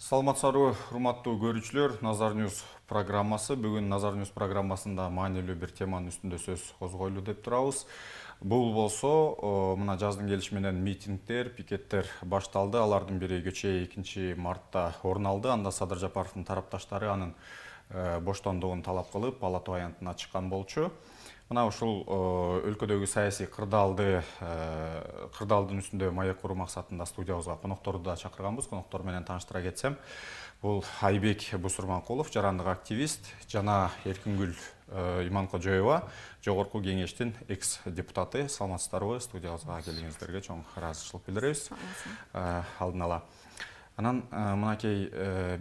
Саламатсыздарбы, урматтуу көрүүчүлөр. Nazar News программасы. Бүгүн Nazar News программасында маанилүү бир теманын үстүндө сөз козгойлу деп турабыз. Бул болсо, мына жаздын келиши менен митингдер, пикеттер башталды. Алардын бири кечээ 2-мартта орун алды. Анда Садыр Жапаровдун тарапташтары анын боштондугун талап кылып, Ала Тоо аянтына чыккан болчу. Мына ушул өлкөдөгү саясий кырдаалдын үстүндө маек куруу максатында студиябызга конокторду да чакырганбыз. Коноктор менен тааныштыра кетсем, бул Айбек Бусурманкулов, жарандык активист, жана Эркингүл Иманкожоева, жогорку кеңештин экс-депутаты. Саламатсыздарбы? Студиябызга келгениңиздерге чоң ыраазычылык билдиребиз. Алдын ала. Анан мынакей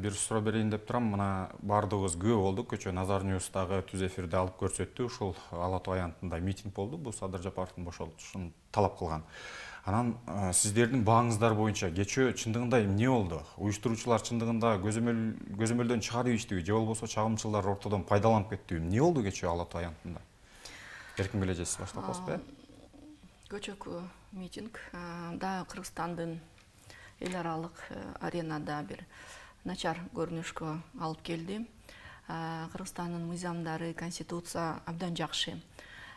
бир суроо берейин деп турам. Мына бардыгыбыз күбө болдук. Көчө Nazar News'тагы түз эфирде алып көрсөттү. Ушул Ала Тоо аянтында митинг болду. Бул Садыр Жапаровдун бошотушун талап кылган. Анан сиздердин бааңыздар боюнча кечөө чындыгында эмне болду? Уюштуруучулар чындыгында көзөмөлдөн чыгарып иштиби, же болбосо чагымчылар ортодон пайдаланып кеттиби? Эмне болду кечөө Ала Тоо аянтында? Эркингүл эже, сиз баштап коесузбу? Көчөкү митинг да Кыргызстандын эл аралык аренада бир начар көрүнүшкө алып келди. Кыргызстандын мыйзамдары, конституция абдан жакшы.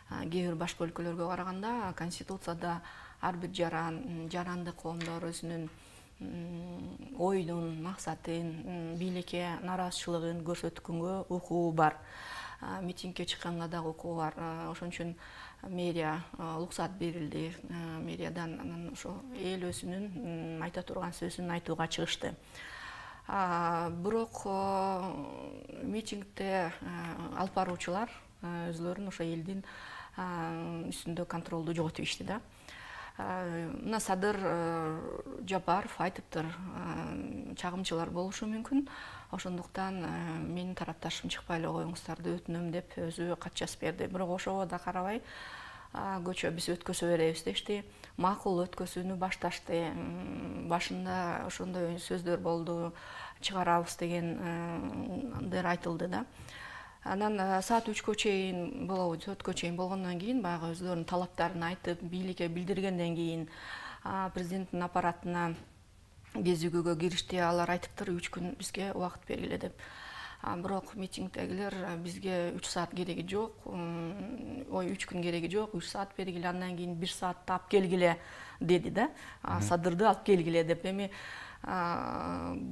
Кээ бир башка өлкөлөргө караганда конституцияда ар бир жарандык коомдор өзүнүн оюнун, максатын, бийликке нааразычылыгын көрсөткөнгө укугу бар. Митингге чыкканга дагы укугу бар. Ошон үчүн мэрия уруксат берилди. Мэриядан анан ошо эл өзүнүн айта турган сөзүн айтууга чыгышты. Бирок митингде алып баруучулар өзлөрүн ошо элдин үстүндө контролду жоготуп ишти да. Мына Садыр Жапаров айтыптыр, чагымчылар болушу мүмкүн. Ошондуктан менин тарапташым чыкпай эле коюңуздарды өтүнөм деп өзү кат жазып берди. Бирок ошого да карабай көчө биз өткөзө беребиз дешти. Макул өткөзүүнү башташты. Башында ошондой сөздөр болду, чыгарабыз дегендер айтылды да. Анан саат 3-кө чейин болобу, 4-кө чейин болгондон кийин баягы өзлөрүнүн талаптарын айтып, бийликке билдиргенден кийин президенттин аппаратына кезүүгө киришти. Алар айтыптыр, 3 күн бизге убакыт бергиле деп. Бирок митингдегилер бизге 3 саат кереги жок, 3 күн кереги жок, 3 саат бергиле, андан кийин 1 саатта алып келгиле деди да. Садырды алып келгиле деп. Эми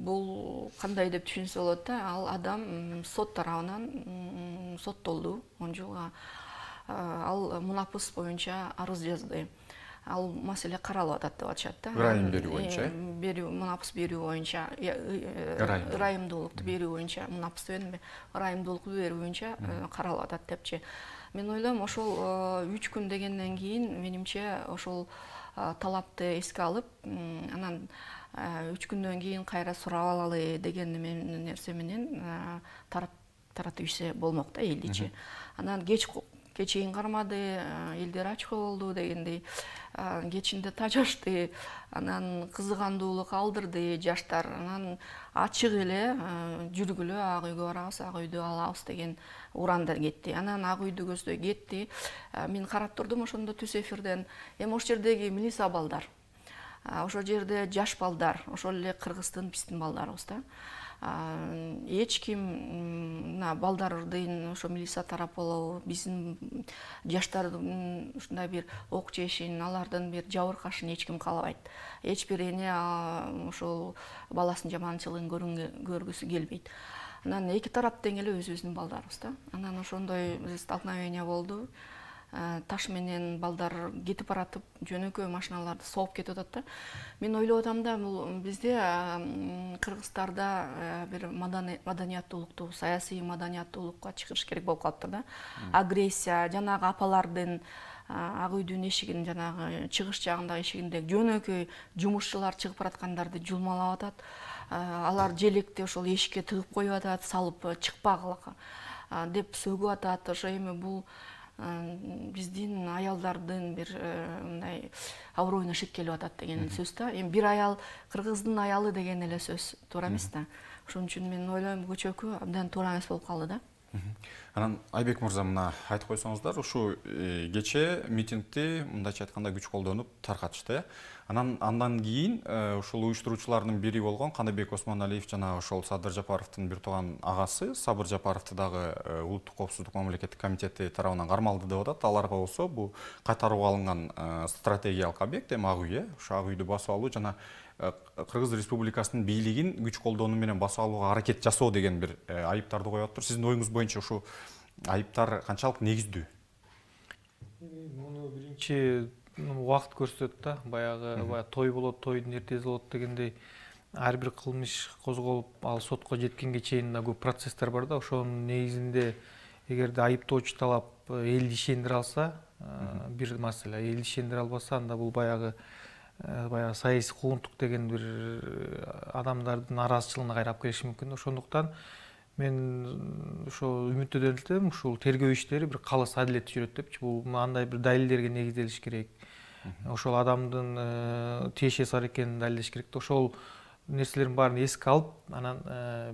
бул кандай деп түшүнсө болот да, ал адам сот тарабынан соттолду 10 жылга. Ал мунапыс боюнча арыз жазды. Ал маселе каралып атат деп атышат да. Ырайым берүү боюнча. Мунапыс берүү боюнча, ырайымдуулукту берүү боюнча, мунапыс дебедимби? Ырайымдуулукту берүү боюнча каралып атат депчи. Мен ойлойм, ошол 3 күн дегенден кийин менимче ошол талапты эске алып, анан 3 күндөн кийин кайра сурап алалы деген нерсе менен таратып ишсе болмок да элдичи. Анан кечейин кармады, элдер ачка болду дегендей, кечинде тажашты, анан кызыгандуулук алдырды жаштар, анан ачык эле жүргүлө, ак үйгө барабыз, ак үйдү алабыз деген урандар кетти. Анан ак үйдү көздөй кетти. Мен карап турдум ошондо түз эфирден. Эми ошол жердеги милиция балдар, ошол жерде жаш балдар, ошол эле Кыргыздын биздин балдарыбыз да. Эч ким балдардын ошо милиция тарап болобу, биздин жаштардын ушундай бир ок жешин, алардын бир жабыркашын эч ким каалабайт. Эч бир эне ошол баласынын жаманчылыгын көргүсү келбейт. Анан эки тарап тең эле өзүбүздүн балдарыбыз да. Анан ошондой столкновение болду. Таш менен балдар кетип баратып, жөнөкөй машиналарды сооп кетип атат да. Мен ойлоп атам да, бул бизде Кыргыздарда бир маданияттуулукту, саясий маданияттуулукка чыгыш керек болуп калыптыр да. Агрессия, жанагы апалардын ак үйдүн эшигин, жанагы чыгыш жагындагы эшигинде жөнөкөй жумушчулар чыгып бараткандарды жулмалап атат. Алар желекти ошол эшикке тыгып коюп атат, салып чыкпагыла деп сөгүп атат. Ошо эми бул биздин аялдардын бир мындай аброюна шек келип атат деген сөз да. Эми бир аял кыргыздын аялы деген эле сөз туура эмес да. Ошон үчүн мен ойлойм, көчөкү абдан туура эмес болуп калды да. Анан Айбек мырза, мына айтып койсоңуздар, ушу кечээ митингди мындайча айтканда күч колдонуп таркатышты. Андан кийин ушул уюштуруучулардын бири болгон Каныбек Осмоналиев жана ошол Садыр Жапаровдун бир тууган агасы Сабыр Жапаровду дагы Улуттук коопсуздук мамлекеттик комитети тарабынан кармалды деп атат. Аларга болсо бул кайтарууга алынган стратегиялык объект, эми Ак үй, ошо Ак үйдү басып алуу жана Кыргыз Республикасынын бийлигин күч колдонуу менен басып алууга аракет жасоо деген бир айыптарды коюп атыптыр. Сиздин оюңуз боюнча ушул айыптар канчалык негиздүү? Муну биринчи убакыт көрсөтөт да. Баягы той болот, тойдун эртеси болот дегендей ар бир кылмыш козголуп, ал сотко жеткенге чейин да көп процесстер бар да. Ошонун негизинде эгерде айыптоочу талап элди ишендире алса, бир маселе. Элди ишендире албаса, анда бул баягы саясий куугунтук деген бир адамдардын нараазычылыгына кайрап келиши мүмкүн. Ошондуктан мен ошо үмүттөнүп элем, ушул тергөө иштери бир калыс адилет жүрөт депчи. Бул андай бир далилдерге негизделиш керек. Ошол адамдын тиешеси бар экенин далилдеш керек. Ошол нерселердин баарын эске алып, анан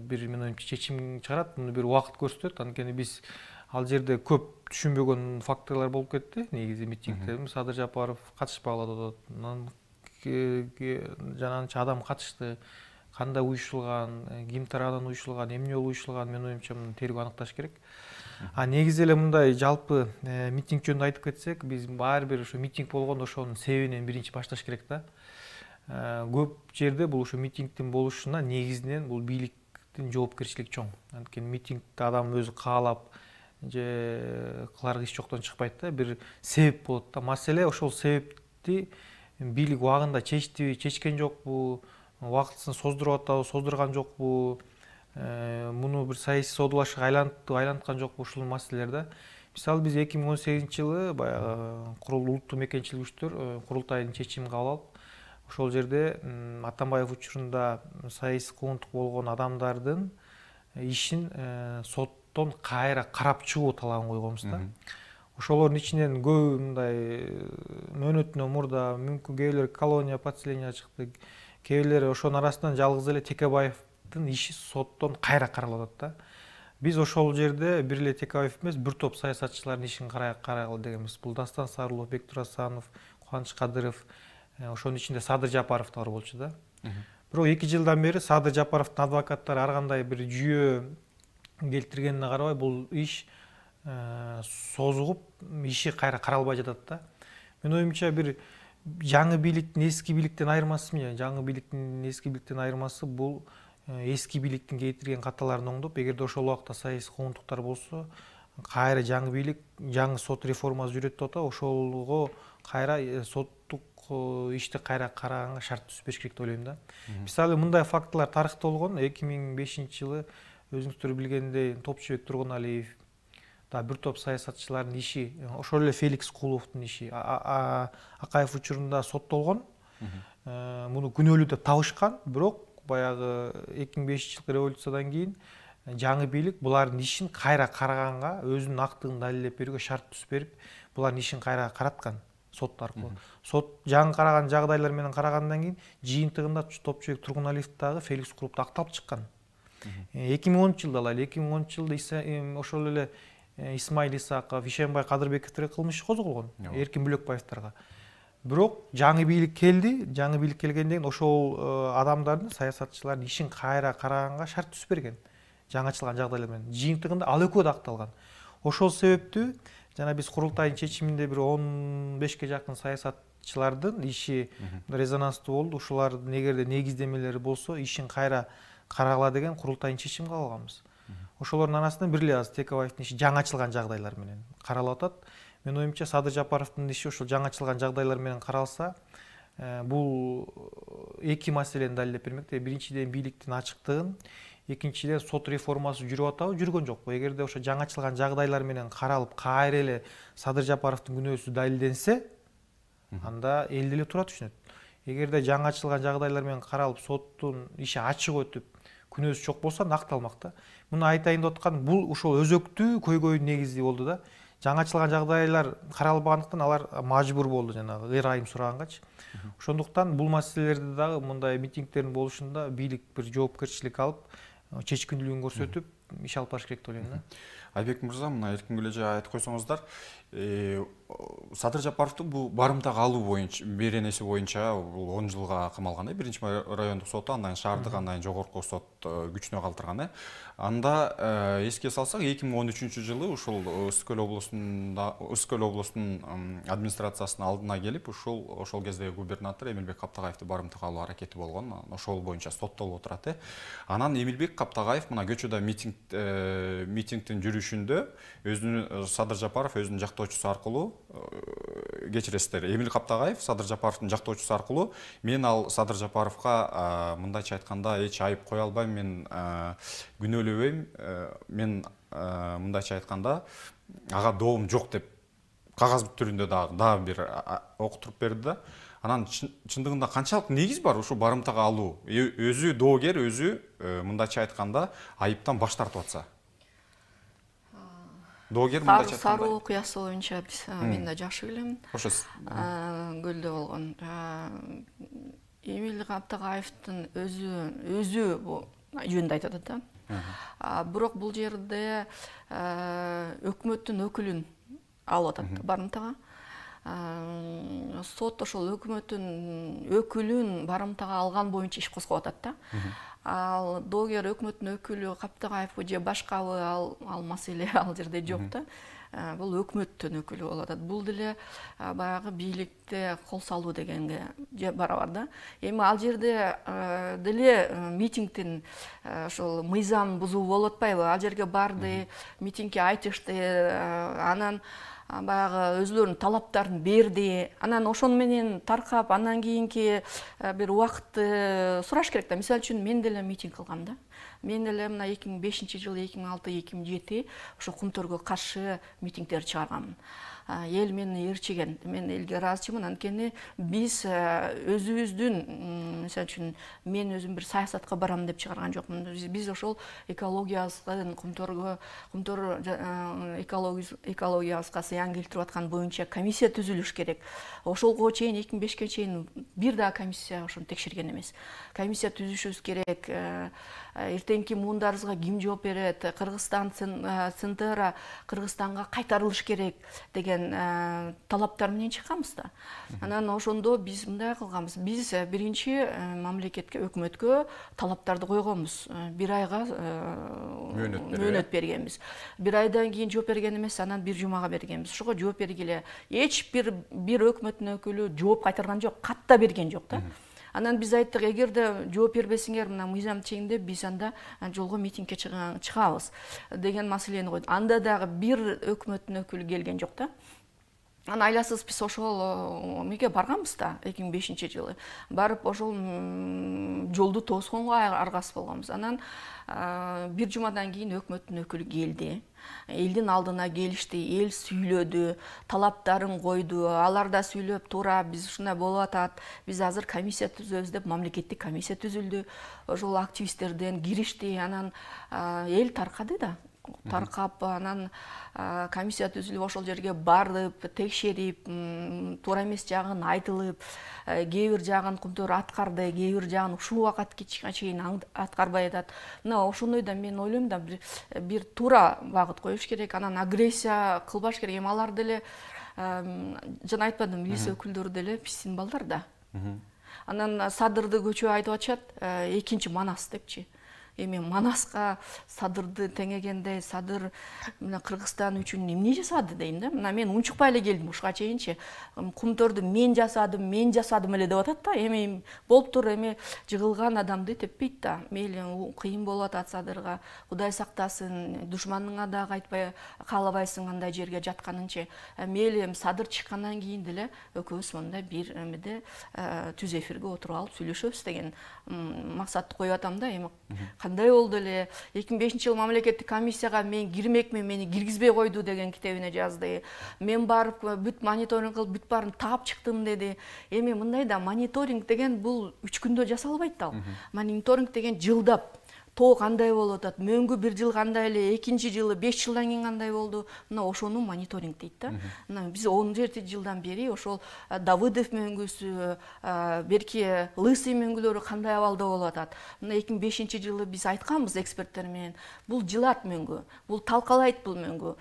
бир менин оюмча чечим чыгарат. Муну бир убакыт көрсөтөт. Анткени биз ал жерде көп түшүнбөгөн факторлор болуп кетти. Негизи митингде Садыр Жапаров катышпагыла деп атат. Жананча адам катышты, кандай уюшулган, ким тарабынан уюшулган, эмне болуп уюшулган, менин оюмча муну тергөө аныкташ керек. Негизи эле мындай жалпы митинг жөнүндө айтып кетсек, биз баары бир ошо митинг болгондо ошонун себебинен биринчи башташ керек да. Көп жерде бул ошо митингдин болушуна негизинен бул бийликтин жоопкерчилиги чоң. Анткени митингде адам өзү каалап же кылар иш жоктон чыкпайт да, бир себеп болот да. Маселе ошол себепти бийлик убагында чечтиби, чечкен жокпу, убактысын создуруп атабы, создурган жокпу, муну бир саясий соодалашууга айланткан жокпу, ушул маселелер да. Мисалы биз 2018-жылы баягы улуттук мекенчилик күчтөр курултайдын чечимин кабыл алып, ошол жерде Атамбаев учурунда саясий куугунтук болгон адамдардын ишин соттон кайра карап чыгуу талабын койгонбуз да. Ошолордун ичинен көбү мындай мөөнөтүнөн мурда, мүмкүн кээ бирлери колония подселенияга чыкты, кээ бирлери ошонун арасынан жалгыз эле Текебаевдин иши соттон кайра каралып атат да. Биз ошол жерде бир эле Текебаев эмес, бир топ саясатчылардын ишин карагыла дегенбиз. Бул Дастан Сарылов, Бектур Асанов, Кубаныч Кадыров, ошонун ичинде Садыр Жапаров да бар болчу да. Бирок 2 жылдан бери Садыр Жапаровдун адвокаттары ар кандай бир жүйө келтиргенине карабай, бул иш созугуп, иши кайра каралбай жатат да. Менин оюмча бир жаңы бийликтин эски бийликтен айырмасы эмне? Жаңы бийликтин эски бийликтен айырмасы бул эски бийликтин кетирген каталарын оңдоп, эгерде ошол убакта саясий куугунтуктар болсо, кайра жаңы бийлик, жаңы сот реформасы жүрөт деп атат, ошолго кайра соттук ишти кайра караганга шарт түзүп бериш керек деп ойлойм да. Мисалы мындай фактылар тарыхта болгон. 2005-жылы өзүңүздөр билгендей Топчубек Тургуналиев, бир топ саясатчылардын иши, ошол эле Феликс Куловдун иши Акаев учурунда соттолгон. Муну күнөөлүү деп табышкан, бирок баягы 2005-жылкы революциядан кийин жаңы бийлик булардын ишин кайра караганга, өзүнүн актыгын далилдеп берүүгө шарт түзүп берип, булардын ишин кайра караткан сот аркылуу. Сот жаңы караган жагдайлар менен карагандан кийин жыйынтыгында Топчубек Тургуналиев дагы Феликс Кулов акталып чыккан. 2010-жылда алайлы, 2010-жылда ошол эле Исмаил Исаков, Ишенбай Кадырбековдер кылмыш козголгон, Эркин Бөлөкбаевдарга. Бирок жаңы бийлик келди, жаңы бийлик келгенден кийин ошол адамдардын, саясатчылардын ишин кайра караганга шарт түзүп берген. Жаңачылган жагдайлар менен. Жыйынтыгында ал экөө да акталган. Ошол себептүү жана биз курултайдын чечиминде бир 15ке жакын саясатчылардын иши резонанстуу болду. Ушулардын эгерде негиздемелери болсо, ишин кайра карагыла деген курултайдын чечимин кабыл алганбыз. Ошолордун арасынан бир эле аз Текебаевдин иши жаңачылган жагдайлар менен каралып атат. Менин оюмча Садыр Жапаровдун иши ошол жаңачылган жагдайлар менен каралса, бул эки маселени далилдеп бермек. Биринчиден бийликтин ачыктыгын, экинчиден сот реформасы жүрүп атабы, жүргөн жокпу? Эгерде ошо жаңачылган жагдайлар менен каралып, кайра эле Садыр Жапаровдун күнөөсү далилденсе, анда эл деле туура түшүнөт. Эгерде жаңачылган жагдайлар менен каралып, соттун иши ачык өтүп, күнөөсү жок болсо, акталмак да. Муну айтайын деп аткан, бул ошол өзөктүү көйгөйдүн негизи болду да. Жаңачылган жагдайлар каралбагандыктан алар мажбур болду жанагы ыр айым сурагангач. Ошондуктан бул маселелерди дагы мындай митингдердин болушунда бийлик бир жоопкерчилик алып, чечкиндүүлүгүн көрсөтүп, иш алып барыш керек деп ойлойм да. Айбек мырза, мына эркин эле айтып койсоңуздар, Садыр Жапаровду бул барымтага алуу боюнча, беренеси боюнча бул 10 жылга камалган, биринчи райондук соту, андан шаардык, андан жогорку сот күчүнө калтырган. Анда эске салсак, 2013-жылы ушул Ысык Көл облустунун администрациясынын алдына келип, ошол кездеги губернатор Эмилбек Каптагаевди барымтага алуу аракети болгон. Ошол боюнча соттолуп отурат. Анан Эмилбек Каптагаев мына көчөдө митингдин жүрүшүндө өзүнүн Садыр Жапаров өзүнүн жактоочусу аркылуу, кечиресиздер, Эмил Каптагаев Садыр Жапаровдун жактоочусу аркылуу, мен ал Садыр Жапаровго мындайча айтканда эч айып кое албайм, мен күнөөлөбөйм, мен мындайча айтканда ага доом жок деп кагаз түрүндө дагы бир окутуруп берди да. Анан чындыгында канчалык негиз бар ушу барымтага алуу? Өзү доогер, өзү мындайча айтканда айыптан баш тартып атса. Доогер мындайча айтканда. Саруу окуясы боюнча мен да жакшы билем. Ошо Көлдө болгон. Эмил Каптагаевдин өзү жөнүндө айтып атат да. Бирок бул жерде өкмөттүн өкүлүн алып атат барымтага. Сот ошол өкмөттүн өкүлүн барымтага алган боюнча иш козгоп атат да. Ал доогер өкмөттүн өкүлү Каптагаевбы же башкабы ал маселе ал жерде жок да. Бул өкмөттүн өкүлү болуп атат. Бул деле баягы бийликте кол салуу дегенге барабар да. Эми ал жерде деле митингдин ошол мыйзамын бузуу болуп атпайбы? Ал жерге барды, митингге айтышты, анан баягы өзүлөрүнүн талаптарын берди. Анан ошону менен таркап, андан кийинки бир убакытты сураш керек да. Мисалы үчүн мен деле митинг кылгам да. Мен деле мына 2005-жылы, 2006-2007 ошо кумтөргө каршы митингдер чыгарганмын. Эл мени ээрчиген, мен элге ыраазычымын. Анткени биз өзүбүздүн, мисалы үчүн мен өзүм бир саясатка барам деп чыгарган жокмун. Биз ошол экологиябызга, кумтөр экологиябызга зыян келтирип аткан боюнча комиссия түзүлүш керек. Ошолго чейин 2005-ке чейин бир да комиссия ошону текшерген эмес. Комиссия түзүшүбүз керек. Эртеңки муундарыбызга ким жооп берет? Кыргызстан Центера Кыргызстанга кайтарылыш керек деген талаптар менен чыкканбыз да. Анан ошондо биз мындай кылганбыз. Биз биринчи мамлекетке, өкмөткө талаптарды койгонбуз. Бир айга мөөнөт бергенбиз. Бир айдан кийин жооп берген эмес, анан бир жумага бергенбиз. Ошого жооп бергиле. Эч бир өкмөттүн өкүлү жооп кайтарган жок, катта берген жок да. Анан биз айттык, эгерде жооп бербесиңер, мына мыйзам чегинде биз анда жолго митингге чыгабыз деген маселени койдук. Анда дагы бир өкмөттүн өкүлү келген жок да. Анан айласыз биз ошол меге барганбыз да 2005-жылы. Барып ошол жолду тосконго аргасыз болгонбуз. Анан бир жумадан кийин өкмөттүн өкүлү келди. Элдин алдына келишти, эл сүйлөдү, талаптарын койду. Алар да сүйлөп, туура биз ушундай болуп атат, биз азыр комиссия түзөбүз деп мамлекеттик комиссия түзүлдү. Ошол активисттерден киришти, анан эл таркады да. Таркап, анан комиссия түзүлүп ошол жерге барып, текшерип, туура эмес жагын айтылып, кээ бир жагын кумтөр аткарды, кээ бир жагын ушул убакытка чейин аткарбай атат. Мына ошондой да мен ойлойм да бир туура багыт коюш керек, анан агрессия кылбаш керек. Эми алар деле жана айтпадым, милиция өкүлдөрү деле пистин балдар да. Анан Садырды көчө айтып атышат, экинчи Манас депчи. Эми Манаска Садырды теңегенде, Садыр мына Кыргызстан үчүн эмне жасады дейм да. Мына мен унчукпай эле келдим ушуга чейинчи. Кумтөрдү мен жасадым эле деп атат да. Эми болуптур, эми жыгылган адамды теппейт да. Мейли кыйын болуп атат Садырга. Кудай сактасын, душманыңа да кайтпай каалабайсың андай жерге жатканынчы. Мейли Садыр чыккандан кийин деле экөөбүз мындай бир эмеде түз эфирге отуруп алып сүйлөшөбүз деген максатты коюп атам да. Эми кандай болду эле 2005-жылы мамлекеттик комиссияга мен кирмекмин, мени киргизбей койду деген китебине жазды. Мен барып бүт мониторинг кылып бүт баарын таап чыктым деди. Эми мындай да мониторинг деген бул 3 күндө жасалбайт да. Мониторинг деген жылдап тоо кандай болуп атат, мөңгү бир жыл кандай эле, экинчи жылы 5 жылдан кийин кандай болду, мына ошону мониторингдейт да. Мына биз 17 жылдан бери ошол Давыдов мөңгүсү, берки Лысый мөңгүлөрү кандай абалда болуп атат. Мына 2005 жылы биз айтканбыз эксперттер менен, бул жылат мөңгү, бул талкалайт бул мөңгү,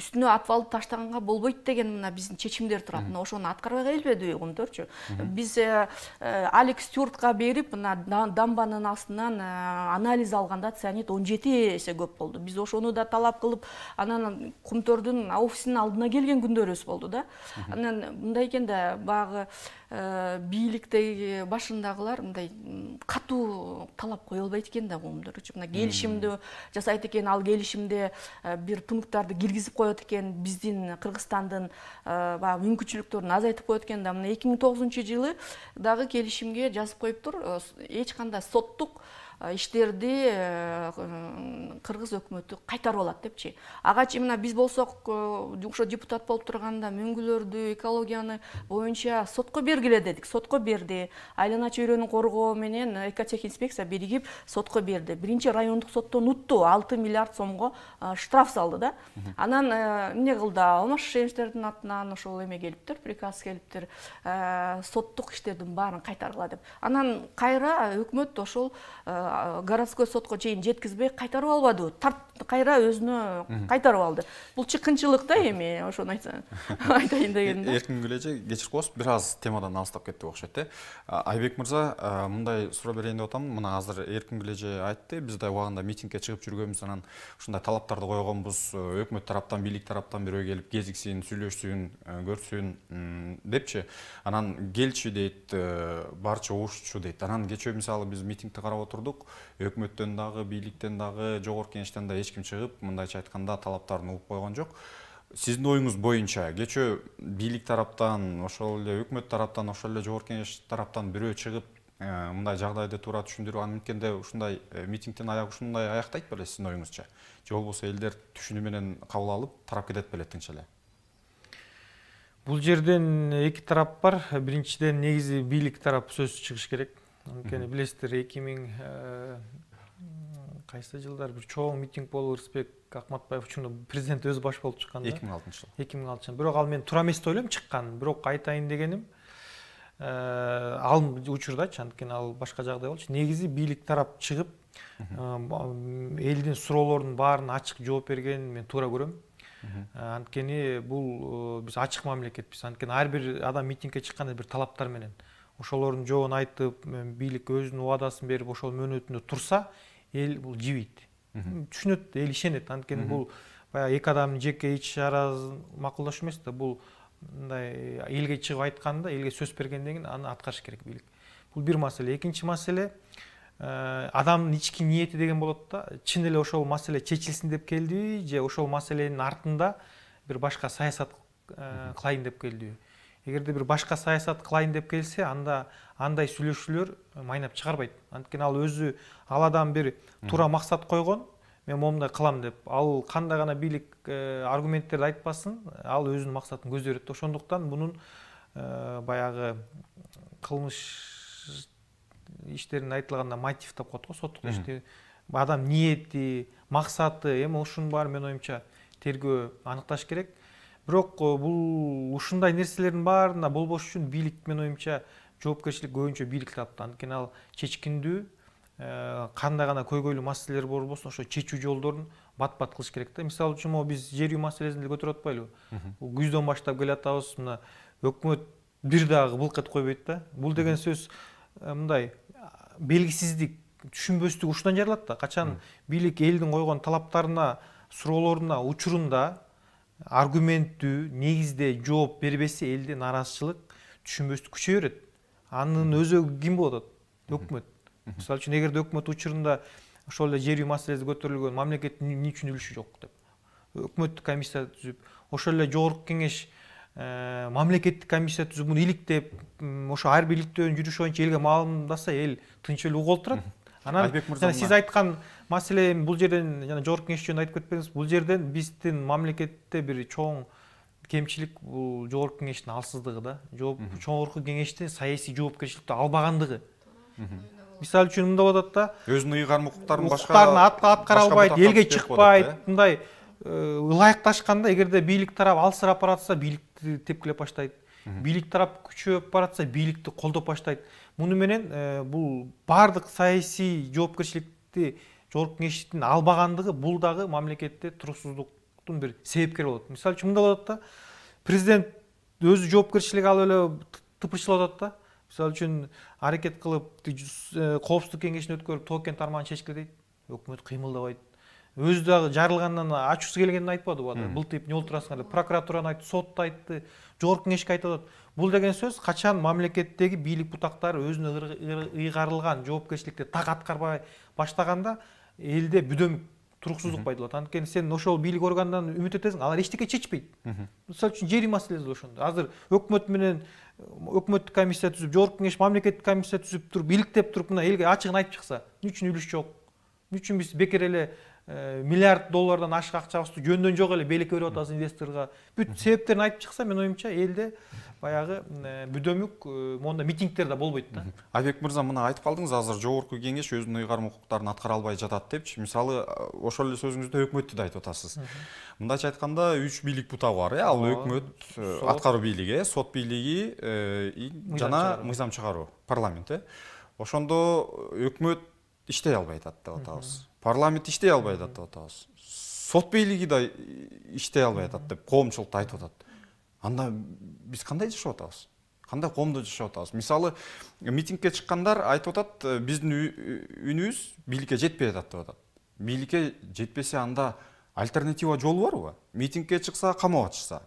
үстүнө атып таштаганга болбойт деген мына биздин чечимдер турат. Мына ошону аткарбай келбедиби коңдорчу? Биз Алекс Стюартка берип, мына дамбанын астынан анализ алганда цианид 17 эсе көп болду. Биз ошону да талап кылып, анан Кумтөрдүн офисинин алдына келген күндөрүбүз болду да. Анан мындай экенде, багы бийликтеги башындагылар мындай катуу талап кое албайт экен да коомдорчу. Мына келишимди жасайт экен, ал келишимде бир пункттарды киргизип коет экен, биздин Кыргызстандын баягы мүмкүнчүлүктөрүн азайтып коет экен да. Мына 2009 жылы дагы келишимге жазып коюптур, эч кандай соттук иштерди кыргыз өкмөтү кайтарып алат депчи. Ага чейин мына биз болсок, ошо депутат болуп турганда мөңгүлөрдү, экологияны боюнча сотко бергиле дедик. Сотко берди. Айлана чөйрөнү коргоо менен экотехинспекция биригип сотко берди. Биринчи райондук соттон утту, 6 миллиард сомго штраф салды да. Анан эмне кылды? Алмашевичтердин атынан ошол эме келиптир, приказ келиптир, соттук иштердин баарын кайтаргыла деп. Анан кайра өкмөт ошол городской сотко чейин жеткизбей кайтарып албады. Кайра өзүнө кайтарып алды. Бул чыккынчылык да эми, ошону айтайын дегенде. Эркин Күлөжө, кечирип коесуз, бир аз темадан алыстап кеттик окшойт. Айбек мырза, мындай суроо берейин деп атам. Мына азыр Эркин Күлөжө айтты, биз да убагында митингге чыгып жүргөнбүз, анан ушундай талаптарды койгонбуз, өкмөт тараптан, бийлик тараптан бирөө келип кезиксин, сүйлөшсүн, көрсүн депчи. Анан келчү дейт, барча угушчу дейт. Анан кечээ мисалы биз митингди карап отурдук, өкмөттөн дагы, бийликтен дагы, жогорку кеңештен да эч ким чыгып, мындайча айтканда талаптарын угуп койгон жок. Сиздин оюңуз боюнча кечээ бийлик тараптан, ошол эле өкмөт тараптан, ошол эле жогорку кеңеш тараптан бирөө чыгып, мындай жагдайды туура түшүндүрүп, анткенде ушундай митингдин аягы ушундай аяктайт беле сиздин оюңузча? Же болбосо элдер түшүнүү менен кабыл алып, тарап кетет беле тынч эле? Бул жерден эки тарап бар. Биринчиден негизи бийлик тарап сөзсүз чыгыш керек. Анткени билесиздер, 2000 кайсы жылдар бир чоң митинг болуп, Ырысбек Акматбаев учурунда президент өзү баш болуп чыккан да. 2006 жыл. 2006 жыл. Бирок ал мен туура эмес деп ойлойм чыккан. Бирок айтайын дегеним, ал учурдачы, анткени ал башка жагдай болчу. Негизи бийлик тарап чыгып, элдин суроолорунун баарына ачык жооп берген мен туура көрөм. Анткени бул биз ачык мамлекетпиз. Анткени ар бир адам митингге чыкканда бир талаптар менен ошолордун жообун айтып, бийлик өзүнүн убадасын берип, ошол мөөнөтүндө турса, эл бул жибейт. Түшүнөт, эл ишенет. Анткени бул баягы эки адамдын жеке ич-чарасын макулдашуу эмес да, бул мындай элге чыгып айтканда, элге сөз бергенден кийин аны аткарыш керек бийлик. Бул бир маселе. Экинчи маселе, адамдын ички ниети деген болот да. Чын эле ошол маселе чечилсин деп келдиби, же ошол маселенин артында бир башка саясат кылайын деп келдиби? Эгерде бир башка саясат кылайын деп келсе, анда андай сүйлөшүүлөр майнап чыгарбайт. Анткени ал өзү, ал адам бир туура максат койгон, мен момундай кылам деп, ал кандай гана бийлик аргументтерди айтпасын, ал өзүнүн максатын көздөйт. Ошондуктан мунун баягы кылмыш иштерин айтылганда мотив деп коет го, соттук ишти, адам ниети, максаты, эми ушунун баары менин оюмча тергөө аныкташ керек. Бирок бул ушундай нерселердин баарына болбош үчүн бийлик менин оюмча жоопкерчилик көбүнчө бийлик тарапта. Анткени ал чечкиндүү, кандай гана көйгөйлүү маселелер болбосун, ошо чечүү жолдорун бат-бат кылыш керек да. Мисалы үчүн биз жер үй маселесин деле көтөрүп атпайлыбы? Бул күздөн баштап келатабыз, мына өкмөт бир дагы былк этип койбойт да. Бул деген сөз мындай белгисиздик, түшүнбөстүк ушундан жаралат да. Качан бийлик элдин койгон талаптарына, суроолоруна учурунда аргументтүү негизде жооп бербесе, элде нааразычылык, түшүнбөстүк күчөйө берет. Анын өзөгү ким болот? Өкмөт. Мисалы үчүн, эгерде өкмөт учурунда ошол эле жер үй маселеси көтөрүлгөн, мамлекеттин эмне үчүн үлүшү жок деп, өкмөттүк комиссия түзүп, ошол эле жогорку кеңеш мамлекеттик комиссия түзүп, муну иликтеп, ошо ар бир иликтөөнүн жүрүшү боюнча элге маалымдаса, эл тынч эле угуп отурат. Анан сиз айткан маселе, бул жерден жана жогорку кеңеш жөнүндө айтып кетпеңиз, бул жерден биздин мамлекетте бир чоң кемчилик бул жогорку кеңештин алсыздыгы да. Жогорку кеңештин саясий жоопкерчиликти албагандыгы. Мисалы үчүн мындай болуп атат да. Өзүнүн ыйгарым укуктарын аткара албайт, элге чыкпайт, мындай ылайыкташканда эгерде бийлик тарап алсырап баратса, бийликти тепкилеп баштайт. Бийлик тарап күчөп баратса, бийликти колдоп баштайт. Муну менен бул бардык саясий жоопкерчиликти жогорку кеңештин албагандыгы бул дагы мамлекетте туруксуздуктун бир себепкери болот. Мисалы үчүн мындай болот да. Президент өзү жоопкерчилик алып эле тыпырчылап атат да. Мисалы үчүн аракет кылып коопсуздук кеңешин өткөрүп токен тармагын чечкиле дейт. Өкмөт кыймылдабайт. Өзү дагы жарылгандан ачуусу келгенин айтпады бу. Былтып не олтурасыңар деп прокуратураны айтты, сотто айтты, жогорку кеңешке айтып атат. Бул деген сөз качан мамлекеттеги бийлик бутактары өзүнө ыйгарылган жоопкерчиликти так аткарбай баштаганда элде бүдөм туруксуздук пайда болот. Анткени сен ошол бийлик органынан үмүт этесиң, алар эчтеке чечпейт. Мисалы үчүн жери маселеси да ошондой. Азыр өкмөт менен өкмөттүк комиссия түзүп, жогорку кеңеш мамлекеттик комиссия түзүп туруп, иликтеп туруп, мына элге ачыгын айтып чыкса, эмне үчүн үлүш жок? Эмне үчүн биз бекер эле миллиард доллардан ашык акчабызды жөндөн жок эле белекке берип атабыз инвесторго? Бүт себептерин айтып чыкса, мен оюмча элде баягы бүдөмүк монда митингдер да болбойт да. Айбек мырза, мына айтып калдыңыз, азыр жогорку кеңеш өзүнүн ыйгарым укуктарын аткара албай жатат депчи. Мисалы, ошол эле сөзүңүздө өкмөттү да айтып атасыз. Мындайча айтканда 3 бийлик бутагы бар, ал өкмөт, аткаруу бийлиги, сот бийлиги жана мыйзам чыгаруу, парламент. Ошондо өкмөт иштей албай атат деп атабыз. Парламент иштей албай атат деп атабыз. Сот бийлиги да иштей албай атат деп коомчулукта айтып атат. Анда биз кандай жашап атабыз? Кандай коомдо жашап атабыз? Мисалы, митингке чыккандар айтып атат, биздин үнүбүз бийликке жетпей атат деп атат. Бийликке жетпесе, анда альтернатива жолу барбы? Митингке чыкса, камоого чыкса.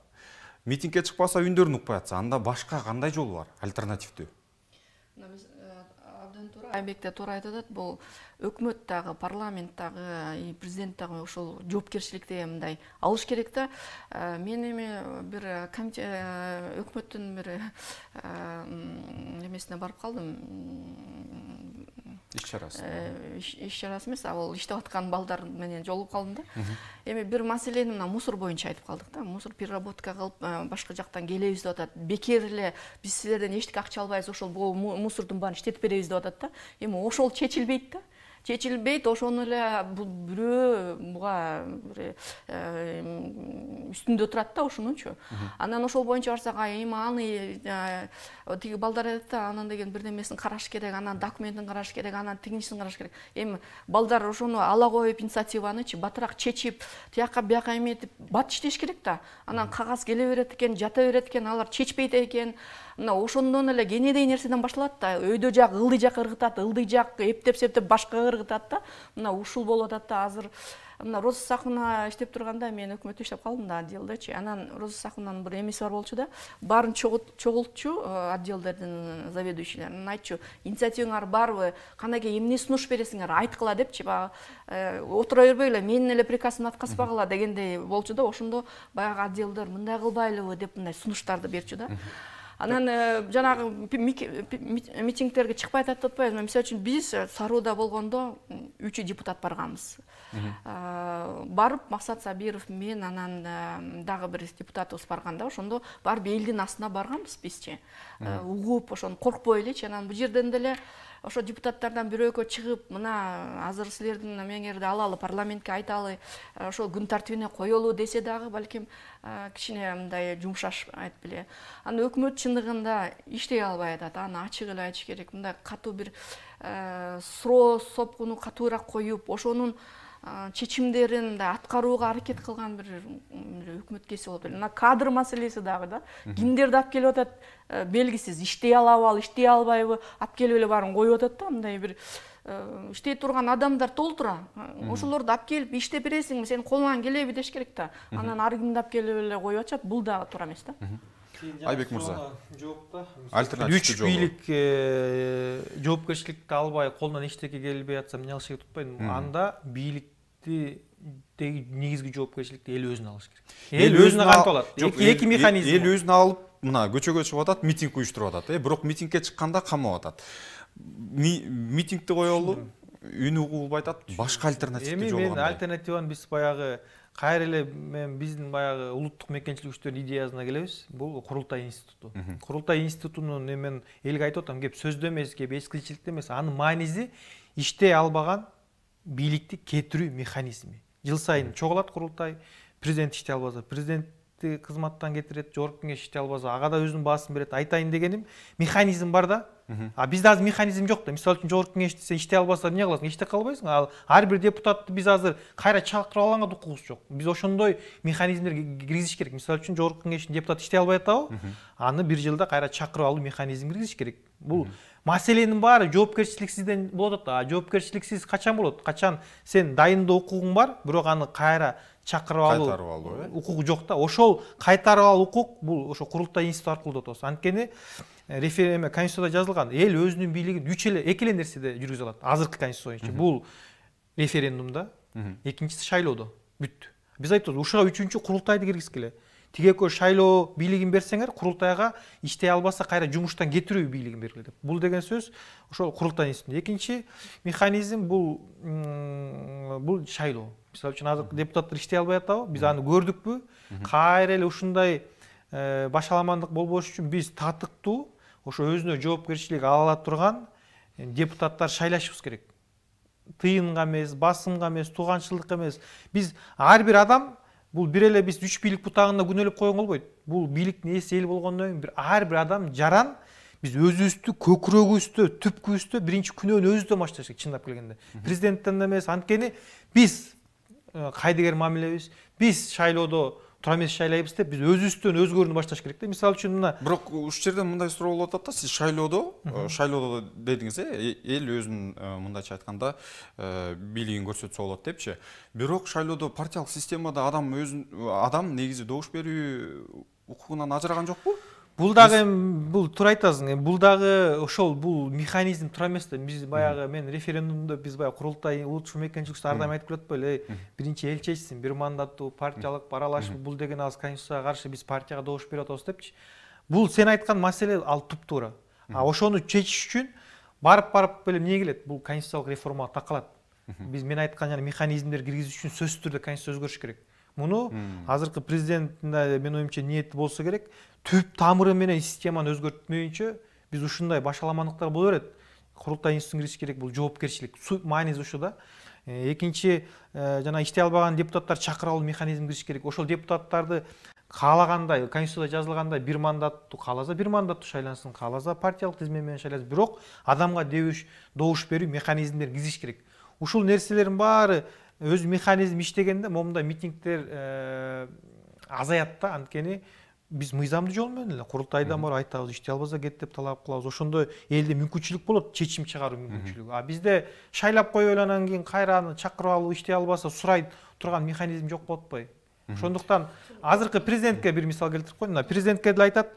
Митингке чыкпаса, үндөрүн укпай атса, анда башка кандай жол бар? Альтернативдүү. Айбекте туура айтып атат, бул өкмөт дагы, парламент дагы, президент дагы ошол жоопкерчиликти мындай алыш керек да. Мен эми бир өкмөттүн бир эмесине барып калдым. Иш чарасы эмес, ал иштеп аткан балдар менен жолугуп калдым да. Эми бир маселени мына мусор боюнча айтып калдык да. Мусор переработка кылып, башка жактан келебиз деп атат. Бекер эле биз силерден эчтеке акча албайбыз, ошол мусордун баарын иштетип беребиз деп атат да. Эми ошол чечилбейт да. Чечилбейт, ошону эле бирөө буга үстүндө турат да, ошонунчу. Анан ошол боюнча барсак, эми аны тиги балдар айтат да, анан деген бирдемесин караш керек, анан документин караш керек, анан тигинчисин караш керек. Эми балдар ошону ала коюп инициативанычы батыраак чечип, тияка бияка эметип бат иштеш керек да. Анан кагаз келе берет экен, жата берет экен, алар чечпейт экен. Мына ошондон эле кенедей нерседен башталат да. Өйдө жак ылдый жакка ыргытат, ылдый жак эптеп-септеп башкага ыргытат да. Мына ушул болуп атат да. Азыр мына Роза Сахуна иштеп турганда мен өкмөттө иштеп калдым да, отделдечи. Анан Роза Сахунанын бир эмеси бар болчу да. Баарын чогултчу отделдердин заведующийлерин. Айтчу, инициативаңар барбы? Канакей эмне сунуш бересиңер? Айткыла депчи. Отура бербей эле менин эле приказымды аткарбагыла дегендей болчу да. Ошондо баягы отделдер мындай кылбайлыбы деп мындай сунуштарды берчү да. Анан жанагы митингдерге чыкпай атат атпайбызбы? Мисалы үчүн биз Сарууда болгондо 3 депутат барганбыз. Барып Максат Сабиров, мен, анан дагы бир депутатыбыз барганда, ошондо барып элдин астына барганбыз бизчи. Угуп, ошону коркпой элечи. Анан бул жерден деле ошо депутаттардан бирөөгө чыгып, мына азыр силердин меңерди алалы, парламентке айталы, ошол күн тартибине коелу десе дагы балким кичине мындай жумшашпайт беле. Аны өкмөт чындыгында иштей албай атат. Аны ачык эле айтыш керек. Мындай катуу бир суроо сопкуну катуураак коюп, ошонун чечимдерин да аткарууга аракет кылган бир өкмөт кеси болот эле. Мына кадр маселеси дагы да. Кимдерди алып келип атат белгисиз. Иштей алабы, иштей албайбы, алып келип эле баарын коюп атат да. Мындай бир иштей турган адамдар толтура. Ошолорду алып келип иштеп бересиңби, сенин колуңан келеби деш керек да. Анан ар кимди алып келип эле коюп атышат. Бул дагы туура эмес да. Айбек мырза. Жоопта Альтернативдүү жол. Бийлик жоопкерчиликти албай, колунан эчтеке келбей атса, эмне кылыш керек деп атпайбы? Анда бийликти негизги жоопкерчиликти эл өзүнө алыш керек. Эл өзүнө кантип алат? Эки механизм. Эл өзүнө алып, мына көчөгө чыгып атат, митинг уюштуруп атат. Бирок митингке чыкканда камап атат. Митингди коелу, үн угулбай атат, башка альтернативдүү жол мен альтернативаны биз баягы кайра эле биздин баягы улуттук мекенчилик күчтөрдүн идеясына келебиз. Бул курултай институту. Курултай институтунун мен элге айтып атам, кеп сөздө эмес, кеп эскилчиликте эмес, анын мааниси иштей албаган бийликти кетирүү механизми. Жыл сайын чогулат курултай, президент иштей албаса, президентти кызматтан кетирет, жогорку кеңеш иштей албаса, ага да өзүнүн баасын берет. Айтайын дегеним, механизм бар да. Бизде азыр механизм жок да. Мисалы үчүн жогорку кеңешти сен иштей албаса, эмне кыласың? Иштей калбайсың. Ал ар бир депутатты биз азыр кайра чакырып алганга да укугубуз жок. Биз ошондой механизмдерди киргизиш керек. Мисалы үчүн жогорку кеңештин депутаты иштей албай атабы? Аны бир жылда кайра чакырып алуу механизмин киргизиш керек. Бул маселенин баары жоопкерчиликсизден болот да. Жоопкерчиликсиз качан болот? Качан сен дайындоо укугуң бар, бирок аны кайра чакырып алуу укугу жок да. Ошол кайтарып алуу укук бул ошо курултай институт аркылуу да атабыз. Анткени референдум конституцияда жазылган, эл өзүнүн бийлигин эки эле нерседе жүргүзө алат. Азыркы конституция боюнча бул референдумда, экинчиси шайлоодо. Бүттү. Биз айтабыз, ушуга үчүнчү курултайды киргизгиле. Тиги экөө шайлоо бийлигин берсеңер, курултайга иштей албаса кайра жумуштан кетирүү бийлигин бергиле деп. Бул деген сөз ошол курултай институту. Экинчи механизм бул шайлоо. Мисалы үчүн азыркы депутаттар иштей албай атабы? Биз аны көрдүкпү? Кайра эле ушундай башаламандык болбош үчүн биз татыктуу, ошо өзүнө жоопкерчилик ала турган депутаттар шайлашыбыз керек. Тыйынга эмес, басымга эмес, тууганчылыкка эмес. Биз ар бир адам бул бир эле биз үч бийлик бутагында күнөөлөп койгон болбойт. Бул бийликтин ээси эл болгондон кийин ар бир адам жаран биз өзүбүздү көкүрөгүбүздө, түпкүбүздө биринчи күнөөнү өзүбүздөн башташ керек, чындап келгенде. Президенттен эмес, анткени биз кайдыгер мамилебиз, биз шайлоодо тура эмес шайлайбыз деп биз өзүбүздөн өзгөрүүнү башташ керек да. Мисалы үчүн мына бирок ушул жерде мындай суроо болуп атат да, сиз шайлоодо дедиңиз, эл өзүнүн мындайча айтканда бийлигин көрсөтсө болот депчи. Бирок шайлоодо партиялык системада адам негизи добуш берүү укугунан ажыраган жокпу? Бул дагы бул туура айтасың. Бул дагы ошол бул механизм туура эмес да. Биз баягы мен референдумда биз баягы курултай улуттук мекенчилик ар дайым айтып келатпайлы, биринчи эл чечсин, бир мандаттуу партиялык аралашуу бул деген аз конституцияга каршы, биз партияга добуш берип атабыз депчи. Бул сен айткан маселе ал туп-туура. Ошону чечиш үчүн барып эле эмне келет? Бул конституциялык реформага такалат. Мен айткан жана механизмдерди киргизиш үчүн сөзсүз түрдө конституция өзгөрүш керек. Муну азыркы президенттин да менин оюмча ниети болсо керек. Түп тамыры менен системаны өзгөртмөйүнчө биз ушундай башаламандыктар боло берет. Курултай институтун кириш керек, бул жоопкерчилик. Мааниси ушу да. Экинчи жана иштей албаган депутаттар чакырып алуу механизмин кириш керек. Ошол депутаттарды каалагандай, конституцияда жазылгандай бир мандаттуу кааласа бир мандаттуу шайлансын, кааласа партиялык тизме менен шайлансын. Бирок адамга добуш берүү механизмдерин киргизиш керек. Ушул нерселердин баары өз механизм иштегенде момундай митингдер азаят да. Анткени биз мыйзамдуу жол менен эле курултайдан барып айтабыз, иштей албаса кет деп талап кылабыз. Ошондо элде мүмкүнчүлүк болот, чечим чыгаруу мүмкүнчүлүгү. Бизде шайлап коюп эле анан кийин кайра аны чакырып алып иштей албаса сурай турган механизм жок болуп атпайбы? Ошондуктан азыркы президентке бир мисал келтирип коеюн. Президентке деле айтат,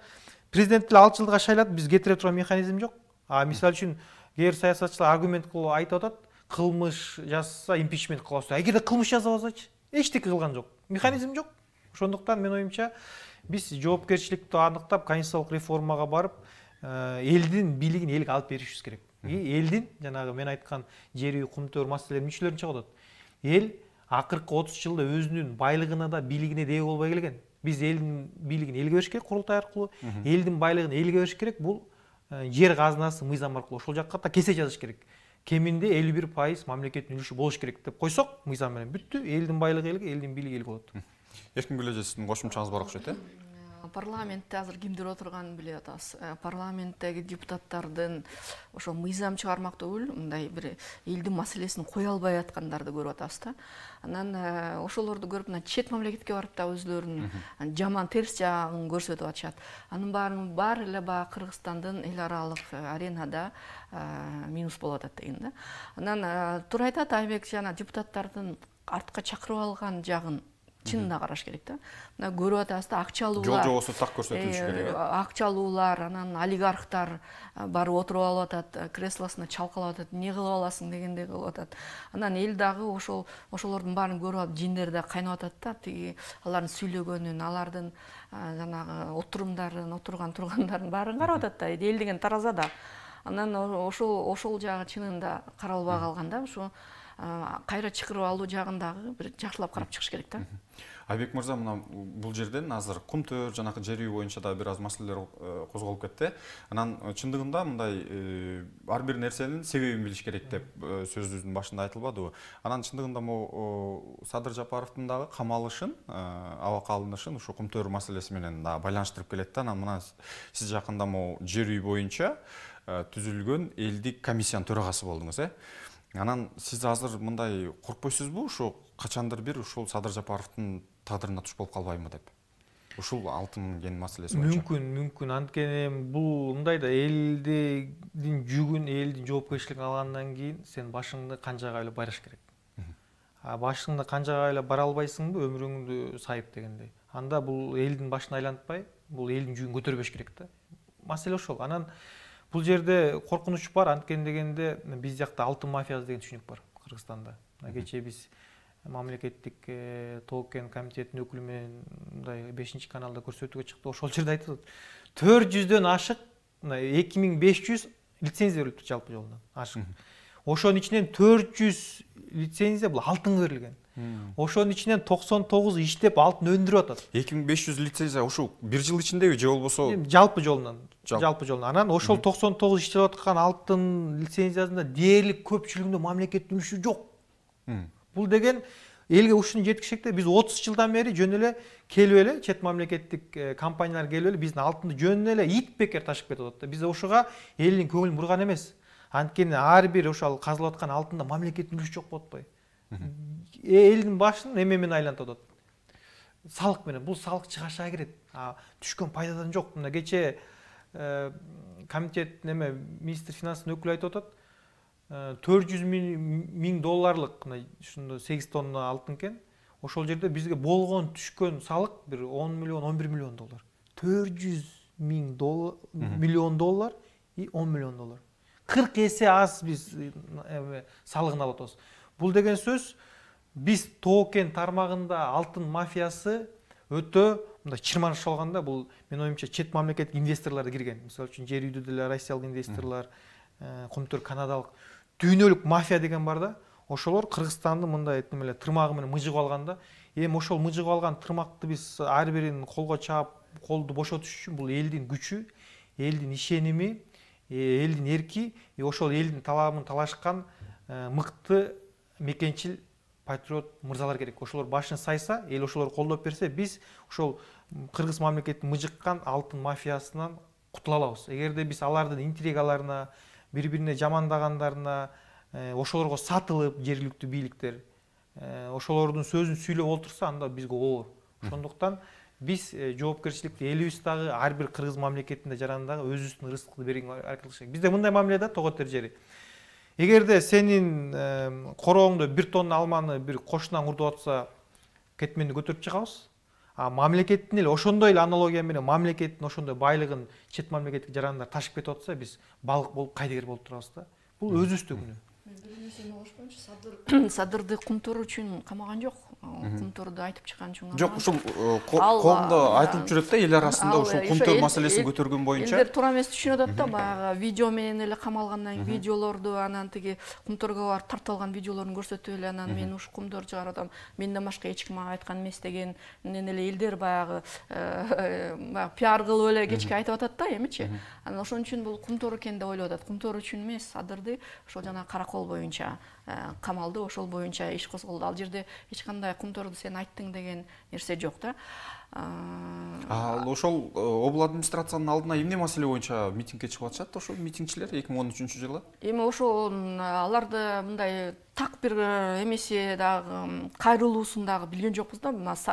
президент деле 6 жылга шайлат, биз кетире турган механизм жок. Мисалы үчүн кээ бир саясатчылар аргумент кылып айтып атат, кылмыш жазса импичмент кылабыз. Эгерде кылмыш жазабасачы, эчтеке кылган жок. Механизм жок. Ошондуктан мен оюмча биз жоопкерчиликти аныктап, конституциялык реформага барып, элдин бийлигин элге алып беришибиз керек. Элдин жанагы мен айткан жер үй, кум төр маселелеринин мүчөлөрүн чыгып атат. Эл акыркы 30 жылда өзүнүн байлыгына да, бийлигине да ээ болбой келген. Биз элдин бийлигин элге бериш керек курултай аркылуу, элдин байлыгын элге бериш керек. Бул жер казынасы мыйзам аркылуу ошол жакка да кесе жазыш керек. Кеминде 51% мамлекеттин үлүшү болуш керек деп койсок, мыйзам менен бүттү. Элдин байлыгы элге, элдин бийлиги элге болот. Эркин Гүлөжө, сиздин кошумчаңыз бар окшойт, Парламентте азыр кимдир отурганын билип атабыз. Парламенттеги депутаттардын ошо мыйзам чыгармак түгүл, мындай бир элдин маселесин кое албай аткандарды көрүп атабыз да. Анан ошолорду көрүп мына чет мамлекетке барып да өзүлөрүнүн жаман терс жагын көрсөтүп атышат. Анын баары эле баягы Кыргызстандын эл аралык аренада минус болуп атат деген да. Анан туура айтат Айбек, жана депутаттардын артка чакырып алган жагын чынында караш керек да. Мына көрүп атабыз да, акчалуулар. Жол жобосу так көрсөтүлүш керек. Акчалуулар, анан олигархтар барып отуруп алып атат, креслосуна чалкалап атат, эмне кылып аласың дегендей кылып атат. Анан эл дагы ошолордун баарын көрүп алып, жиндер да кайнап атат да, тиги алардын сүйлөгөнүн, алардын жанагы отурумдарын, отургандарын баарын карап атат да, эл деген таразада. Анан ошол жагы чынында каралбай калганда ушу кайра чакырып алуу жагын дагы бир жакшылап карап чыгыш керек да. Айбек мырза, мына бул жерден азыр кумтөр жанакы жер үй боюнча да бир аз маселелер козголуп кетти. Анан чындыгында мындай ар бир нерсенин себебин билиш керек деп сөзүбүздүн башында айтылбадыбы? Анан чындыгында могу Садыр Жапаровдун дагы камалышын, абакка алынышын ушу кумтөр маселеси менен да байланыштырып келет да. Анан мына сиз жакында могу жер үй боюнча түзүлгөн элдик комиссиянын төрагасы болдуңуз, Анан сиз азыр мындай коркпойсузбу, ушу качандыр бир ушул Садыр Жапаровдун тагдырына туш болуп калбайбы деп? Ушул алтын кен маселеси боюнча. Мүмкүн. Анткени бул мындай да, элдин жүгүн, элдин жоопкерчилигин алгандан кийин сен башыңды канжага айлап барыш керек. Башыңды канжага айлап бара албайсыңбы, өмүрүңдү сайып дегендей. Анда бул элдин башын айлантпай, бул элдин жүгүн көтөрбөш керек да. Маселе ошол. Анан бул жерде коркунуч бар, анткени дегенде биз жакта алтын мафиясы деген түшүнүк бар Кыргызстанда. Кечээ биз мамлекеттик тоо-кен комитетинин өкүлү менен мындай 5-каналда көрсөтүүгө чыкты. Ошол жерде айтылат. 400дөн ашык 2500 лицензия берилиптир жалпы жолунан. Ашык. Ошонун ичинен 400 лицензия бул алтынга берилген. Ошонун ичинен 99 иштеп алтын өндүрүп атат. 2500 лицензия ошо бир жыл ичиндеби же болбосо жалпы жолунан? Жалпы жолунан. Анан ошол 99 иштеп аткан алтын лицензиясында дээрлик көпчүлүгүндө мамлекеттин үлүшү жок. Бул деген элге ушуну жеткизсек да, биз 30 жылдан бери жөн эле келип эле чет мамлекеттик компаниялар келип эле биздин алтынды жөн эле ит бекер ташып кетип атат да. Биз ошого элдин көңүлүн бурган эмес. Анткени ар бир ошол казылып аткан алтында мамлекеттин үлүшү жок болуп атпайбы? Элдин башын эме менен айлантып атат. Салык менен. Бул салык чыгашаа кирет. Түшкөн пайдадан жок. Мына кечээ комитет министр финанстын өкүлү айтып атат. $400,000 мына ушундо 8 тонна алтын кен. Ошол жерде бизге болгон түшкөн салык бир 10 миллион, 11 миллион доллар. $400,000,000 и 10 миллион доллар. 40 эсе аз биз салыгын алып атабыз. Бул деген сөз, биз тоо-кен тармагында алтын мафиясы өтө мындай чырманыш алганда, бул менин оюмча чет мамлекеттик инвесторлор да кирген. Мисалы үчүн жер үйдө деле россиялык инвесторлор, кумтөр канадалык, дүйнөлүк мафия деген бар да. Ошолор Кыргызстанды мындай эле тырмагы менен мыжыгып алганда, ошол мыжыгып алган тырмакты биз ар бирин колго чаап, колду бошотуш үчүн бул элдин күчү, элдин ишеними, элдин эрки, ошол элдин талабын талашкан мыкты мекенчил патриот мырзалар керек. Ошолор башын сайса, эл ошолорду колдоп берсе, биз ошол Кыргыз мамлекетин мыжыккан алтын мафиясынан кутула алабыз. Эгерде биз алардын интригаларына, бири-бирине жамандагандарына, ошолорго сатылып жергиликтүү бийликтер, ошолордун сөзүн сүйлөп олтурса, анда бизге оор. Ошондуктан биз жоопкерчиликти элибиз дагы ар бир Кыргыз мамлекетинде жарандагы өзүбүздүн рызыкты берүүгө аракет кылыш керек. Бизде мындай мамиле да, тоготер жери. Эгерде сенин корооңдо 1 тонна алманы бир кошунаң урдуп атса, кетменди көтөрүп чыгабыз. Мамлекеттин эле ошондой эле аналогия менен мамлекеттин ошондой байлыгын чет мамлекеттик жарандар ташып кетип атса, биз балык болуп кайдыгер болуп турабыз да. Бул өзүбүздүн күнөө. Садырды кумтор үчүн камаган жок. Кумторду айтып чыккан үчүн. Жок, ушул коомдо айтылып жүрөт да, эл арасында ушул кумтор маселесин көтөргөн боюнча. Элдер туура эмес түшүнүп атат да, баягы видео менен эле камалгандан видеолорду, анан тиги кумторго барып тартылган видеолорун көрсөтүп эле, анан мен ушу кумтор чыгарып атам, менден башка эч ким мага айткан эмес дегенен эле элдер баягы пиар кылып эле кечке айтып атат да, эмичи. Анан ошон үчүн бул кумтор экен деп ойлоп атат. Кумтор үчүн эмес, Садырды ошол жана Каракол боюнча камалды, ошол боюнча иш козголду. Ал жерде эч кандай кумторду сен айттың деген нерсе жок да. Ошол обл администрациянын алдына эмне маселе боюнча митингге чыгып атышат ошол митингчилер 2013-жылы? Эми ошол аларды мындай так бир эмеси дагы кайрылуусун дагы билген жокпуз да.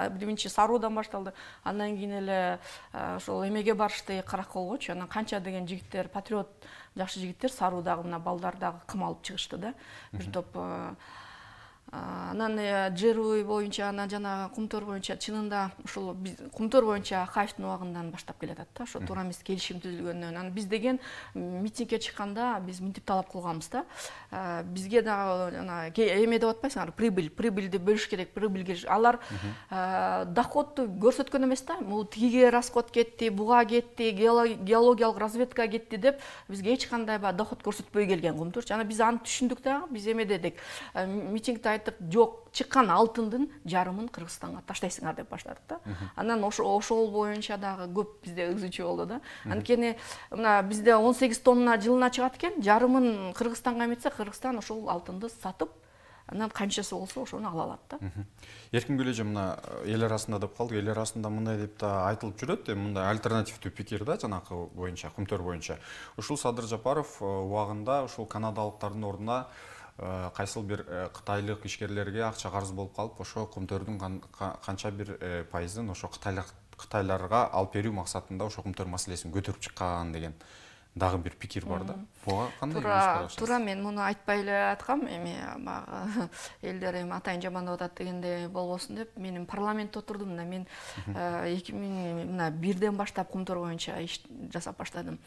Биринчи Саруудан башталды, андан кийин эле ошол эмеге барышты, Караколгочу. Анан канча деген жигиттер, патриот жакшы жигиттер Саруудагы мына балдар дагы кым алып чыгышты да. Бир топ Анан Жеруй боюнча, анан жана Кумтөр боюнча чынында ушул Кумтөр боюнча Акаевдин убагынан баштап келатат да, ошо туура эмес келишим түзүлгөндөн. Анан биз деген митингге чыкканда биз мынтип талап кылганбыз да. Бизге дагы эме деп атпайсыңар, прибыльди бөлүш керек, прибыльге алар доходду көрсөткөн эмес да. Бул тигиге расход кетти, буга кетти, геологиялык разведка кетти деп бизге эч кандай доход көрсөтпөй келген Кумтөрчү. Анан биз аны түшүндүк дагы, биз эме дедик. Митингде жок, чыккан алтындын жарымын Кыргызстанга таштайсыңар деп баштадык да. Анан ошол боюнча дагы көп бизде ызычуу болду да. Анткени мына бизде 18 тонна жылына чыгат экен, жарымын Кыргызстанга эметсе, Кыргызстан ошол алтынды сатып, анан канчасы болсо ошону ала алат да. Эркин Күлөжө мына эл арасында деп калдык, эл арасында мындай деп да айтылып жүрөт, мындай альтернативдүү пикир да, жанакы боюнча, Кумтөр боюнча. Ушул Садыр Жапаров убагында ушул канадалыктардын ордуна кайсыл бир кытайлык ишкерлерге акча карыз болуп калып, ошо Кумтөрдүн канча бир пайызын ошо кытайларга алып берүү максатында ошо Кумтөр маселесин көтөрүп чыккан деген дагы бир пикир бар да. Буга кандай көз карашыңыз? Туура мен муну айтпай эле аткам, эми баягы элдер эми атайын жамандап атат дегендей болбосун деп, мен парламентте отурдум да. Мен 2001-ден баштап Кумтөр боюнча иш жасап баштадым.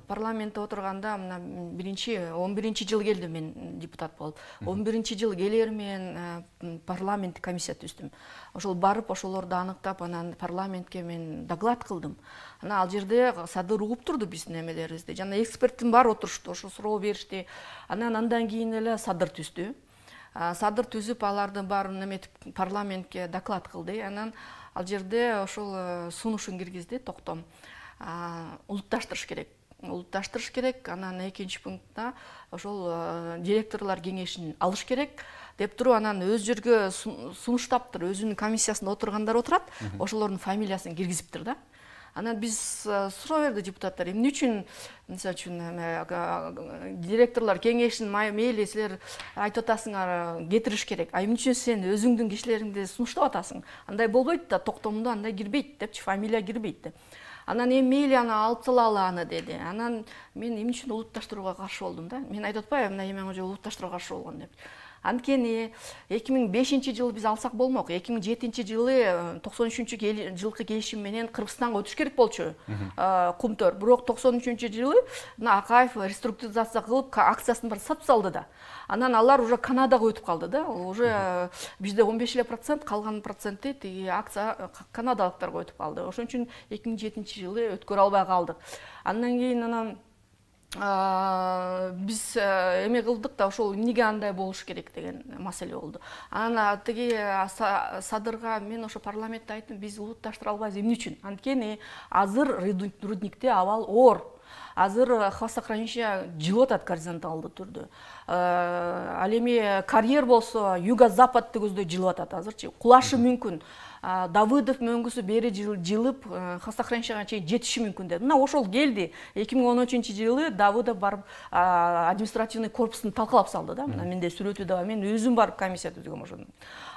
Парламентте отурганда мына 11-жыл келдим мен депутат болуп. 11-жыл келер мен парламенттик комиссия түздүм. Ошол барып ошолорду аныктап, анан парламентке мен доклад кылдым. Анан ал жерде Садыр угуп турду биздин эмелерибизди. Жана эксперттин баары отурушту, ошо суроо беришти. Андан кийин эле Садыр түздү. Садыр түзүп, алардын баарын эметип парламентке доклад кылды. Анан ал жерде ошол сунушун киргизди, токтом. Улутташтырыш керек. Анан экинчи пунктта ошол директорлор кеңешин алыш керек деп туруп, анан өз жерге сунуштаптыр, өзүнүн комиссиясында отургандар отурат, ошолордун фамилиясын киргизиптир да. Анан биз суроо берди депутаттар, эмне үчүн, мисалы үчүн директорлор кеңешин мейли силер айтып атасыңар кетириш керек, эмне үчүн сен өзүңдүн кишилериңди сунуштап атасың? Андай болбойт да, токтомдо андай кирбейт депчи, фамилия кирбейт деп. Анан мейли аны алып салалы аны деди. Анан мен эмне үчүн улутташтырууга каршы болдум да. Мен айтып атпайбы, мына эме уже улутташтырууга каршы болгон деп. Анткени 2005-жылы биз алсак болмок. 2007-жылы 93-жылкы келишим менен Кыргызстанга өтүш керек болчу Кумтөр. Бирок 93-жылы Акаев реструктуризация кылып акциясын бар сатып салды да. Анан алар уже Канадага өтүп калды да. Уже бизде 15%, калган проценти тиги акция канадалыктарга өтүп калды. Ошон үчүн 2007-жылы өткөрө албай калдык. Андан кийин биз эме кылдык да, ошол эмнеге андай болуш керек деген маселе болду. Анан тиги Садырга мен ошо парламентте айттым, биз улутташтыра албайбыз. Эмне үчүн? Анткени азыр рудникте абал оор. Азыр хвостохранилище жылып атат горизонталдуу түрдө. Ал эми карьер болсо юго-запад көздөй жылып атат азырчы. Кулашы мүмкүн. Давыдов мөңгүсү бери жылып хвостохранилищеге чейин жетиши мүмкүн деди. Мына ошол келди. 2013-жылы Давыдов барып административный корпустун талкалап салды да. Мына менде сүрөтү да бар. Мен өзүм барып комиссия түзгөм ошону.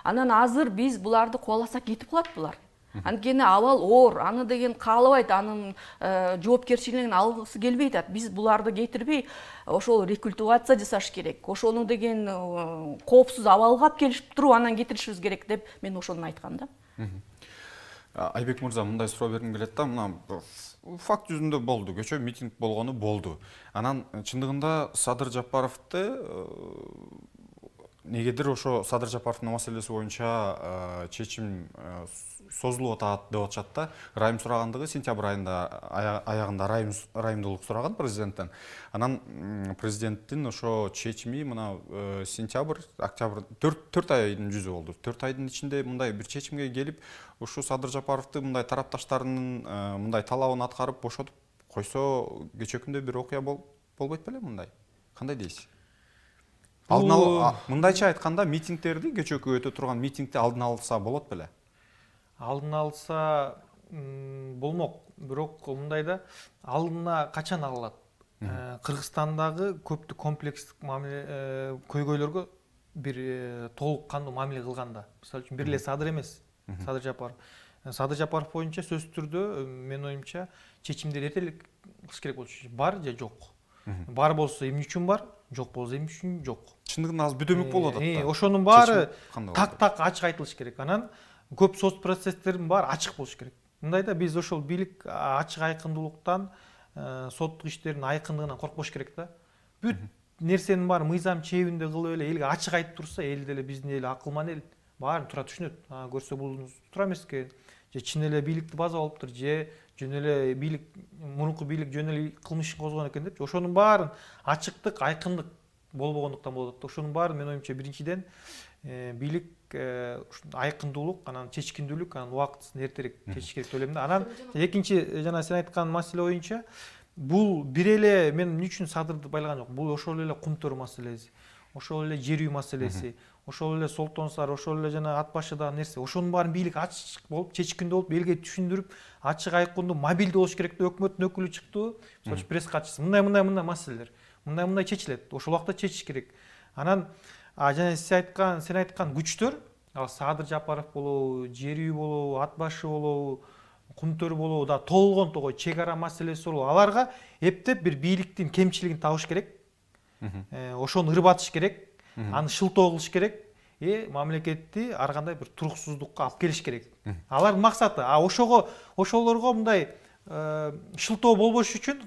Анан азыр биз буларды кубаласак кетип калат булар. Анткени абал оор, аны деген каалабайт, анын жоопкерчилигин алгысы келбей атат. Биз буларды кетирбей, ошол рекультивация жасаш керек. Ошону деген коопсуз абалга алып келип туруп, анан кетиришибиз керек деп мен ошону айткам да. Айбек мырза, мындай суроо бергим келет да, мына факт жүзүндө болду, көчө митинг болгону болду. Анан чындыгында Садыр Жапаровду негедир ошо Садыр Жапаровдун маселеси боюнча чечим созулуп атат деп атышат да. Райым сурагандыгы сентябрь айында аягында райымдуулук сураган президенттен. Анан президенттин ошо чечими мына сентябрь, октябрь 4 айдын жүзү болду. 4 айдын ичинде мындай бир чечимге келип, ушу Садыр Жапаровду мындай тарапташтарынын мындай талабын аткарып бошотуп койсо, кечээ бир окуя болбойт беле мындай? Кандай дейсиз? Мындайча айтканда, митингдерди, кечөөкү өтө турган митингди алдын алса болот беле? Алдын алса болмок, бирок мындайда алдына качан алынат? Кыргызстандагы көптүк комплекстик мамиле көйгөйлөргө бир толук кандуу мамиле кылганда. Мисалы үчүн бир эле Садыр эмес, Садыр Жапаров. Садыр Жапаров боюнча сөзсүз түрдө менин оюмча чечимдер эрте эле кылыш керек болчу. Бар же жок? Бар болсо эмне үчүн бар? жок болсо эмне үчүн жок? Чындыгында азыр бүдөмөк болуп атат да. Ошонун баары так ачык айтылыш керек. Анан көп соц процесстердин баары ачык болуш керек. Мындай да биз ошол бийлик ачык айкындуулуктан, соттук иштердин айкындыгынан коркпош керек да. Бүт нерсенин баары мыйзам чебинде кылып эле элге ачык айтып турса, эл деле биздин эл акылман эл баарын туура түшүнөт. Көрсө бул туура эмес экен. Же чын эле бийликти база болуптур, же жөн эле бийлик мурунку бийлик жөн эле кылмыш козгон экен деп. Ошонун баарын ачыктык, айкындык болбогондуктан болот. Ошонун баарын мен оюмча биринчиден бийлик айкындуулук, анан чечкиндүүлүк, анан убактысын эртерээк чечиш керек деп ойлойм да. Анан экинчи жана сен айткан маселе боюнча бул бир эле мен эмне үчүн садырды байлаган жок. Бул ошол эле кумтөр маселеси, ошол эле жер үй маселеси, ошол эле Солтон Сар, ошол эле жана ат башыдагы нерсе. Ошонун баарын бийлик ачык болуп, чечкиндүү болуп, элге түшүндүрүп, ачык айкындуу, мобилдүү болуш керек деп өкмөттүн өкүлү чыкты. Мисалы үчүн пресс катчысы мындай маселелер, мындай чечилет. Ошол убакта чечиш керек. Анан жана сен айткан күчтөр, ал Садыр Жапаров болобу, жер үй болобу, ат башы болобу, кумтөр болобу, да толгон тогой чек ара маселеси болобу, аларга эптеп бир бийликтин кемчилигин табыш керек. Ошону ырбатыш керек, аны шылтоо кылыш керек, мамлекетти ар кандай бир туруксуздукка алып келиш керек. Алардын максаты, ошолорго мындай шылтоо болбош үчүн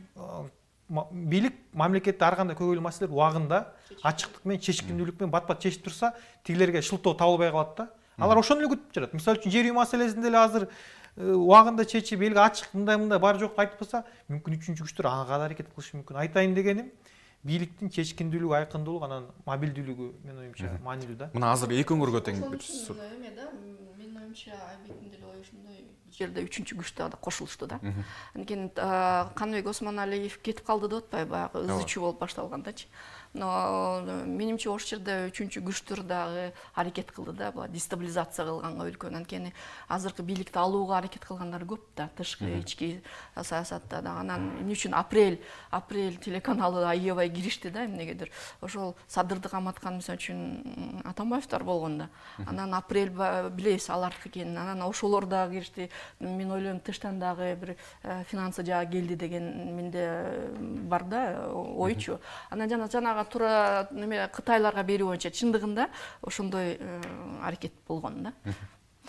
бийлик мамлекетти ар кандай көйгөйлүү маселелер убагында ачыктык менен, чечкиндүүлүк менен бат-бат чечип турса, тигилерге шылтоо табылбай калат да. Алар ошону эле күтүп жатат. Мисалы үчүн жер үй маселесинде эле азыр убагында чечип, элге ачык мындай бар жок айтып калса, мүмкүн үчүнчү күчтөр ага да аракет кылышы мүмкүн. Айтайын дегеним, бийликтин чечкиндүүлүгү, айкындуулугу, анан мобилдүүлүгү мен оюмча маанилүү да. Мына азыр эки өңүргө тең бир сур. Менин оюмча Айбектин деле ою ошондой жерде үчүнчү күч да кошулушту да. Анткени Каныбек Осмоналиев кетип калды деп атпайбы, баягы ызычуу болуп башталгандачы. Но менимче ошол жерде үчүнчү күчтөр дагы аракет кылды да, дестабилизация кылганга өлкөнү. Анткени азыркы бийликти алууга аракет кылгандар көп да, тышкы, ички саясатта да. Анан эмне үчүн апрель телеканалы аябай киришти да эмнегедир. Ошол Садырды каматкан мисалы үчүн Атамбаевдер болгон да. Анан апрель билебиз алардыкы экенин. Анан ошолор дагы киришти. Мен ойлойм тыштан дагы бир финансы жагы келди деген менде бар да ойчу. Анан жанагы туура неме Кытайларга берүү боюнча чындыгында ошондой аракет болгон да.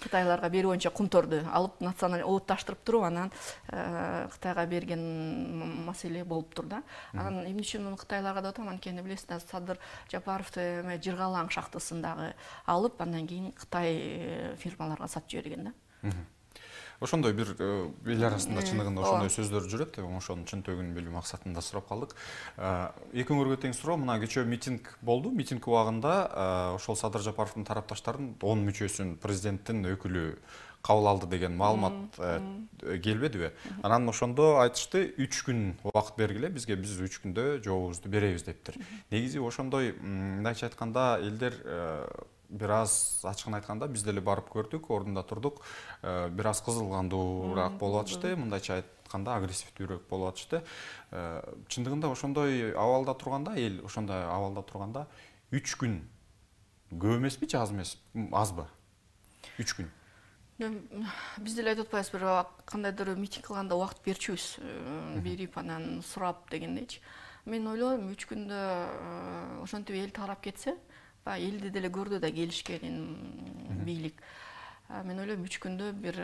Кытайларга берүү боюнча кумторду алып националь улутташтырып туруп, анан Кытайга берген маселе болуптур да. Анан эмне үчүн муну Кытайларга деп атам, анткени билесиз, Садыр Жапаровду Жыргалаң шахтасындагы алып, андан кийин Кытай фирмаларга сатып жиберген да. Ошондой бир эл арасында чындыгында ошондой сөздөр жүрөт. Ошонун чын төгүнүн билүү максатында сурап калдык. Эки өңүргө тең суроо. Мына кечээ митинг болду. Митинг убагында ошол Садыр Жапаровдун тарапташтарынын 10 мүчөсүн президенттин өкүлү кабыл алды деген маалымат келбедиби? Анан ошондо айтышты 3 күн убакыт бергиле бизге, биз 3 күндө жообубузду беребиз дептир. Негизи ошондой мындайча айтканда элдер бир аз ачыгын айтканда биз деле барып көрдүк, ордунда турдук. Бир аз кызылгандуураак болуп атышты, мындайча айтканда агрессивдүүрөөк болуп атышты. Чындыгында ошондой абалда турганда, эл ошондой абалда турганда 3 күн көп эмеспи же аз эмеспи? Азбы? 3 күн. Биз деле айтып атпайбыз, бир кандайдыр митинг кылганда убакыт берчүбүз, берип анан сурап дегендейчи. Мен ойлойм 3 күндө ошентип эл тарап кетсе, элди деле көрдү да келишкенин бийлик. Мен ойлойм 3 күндө бир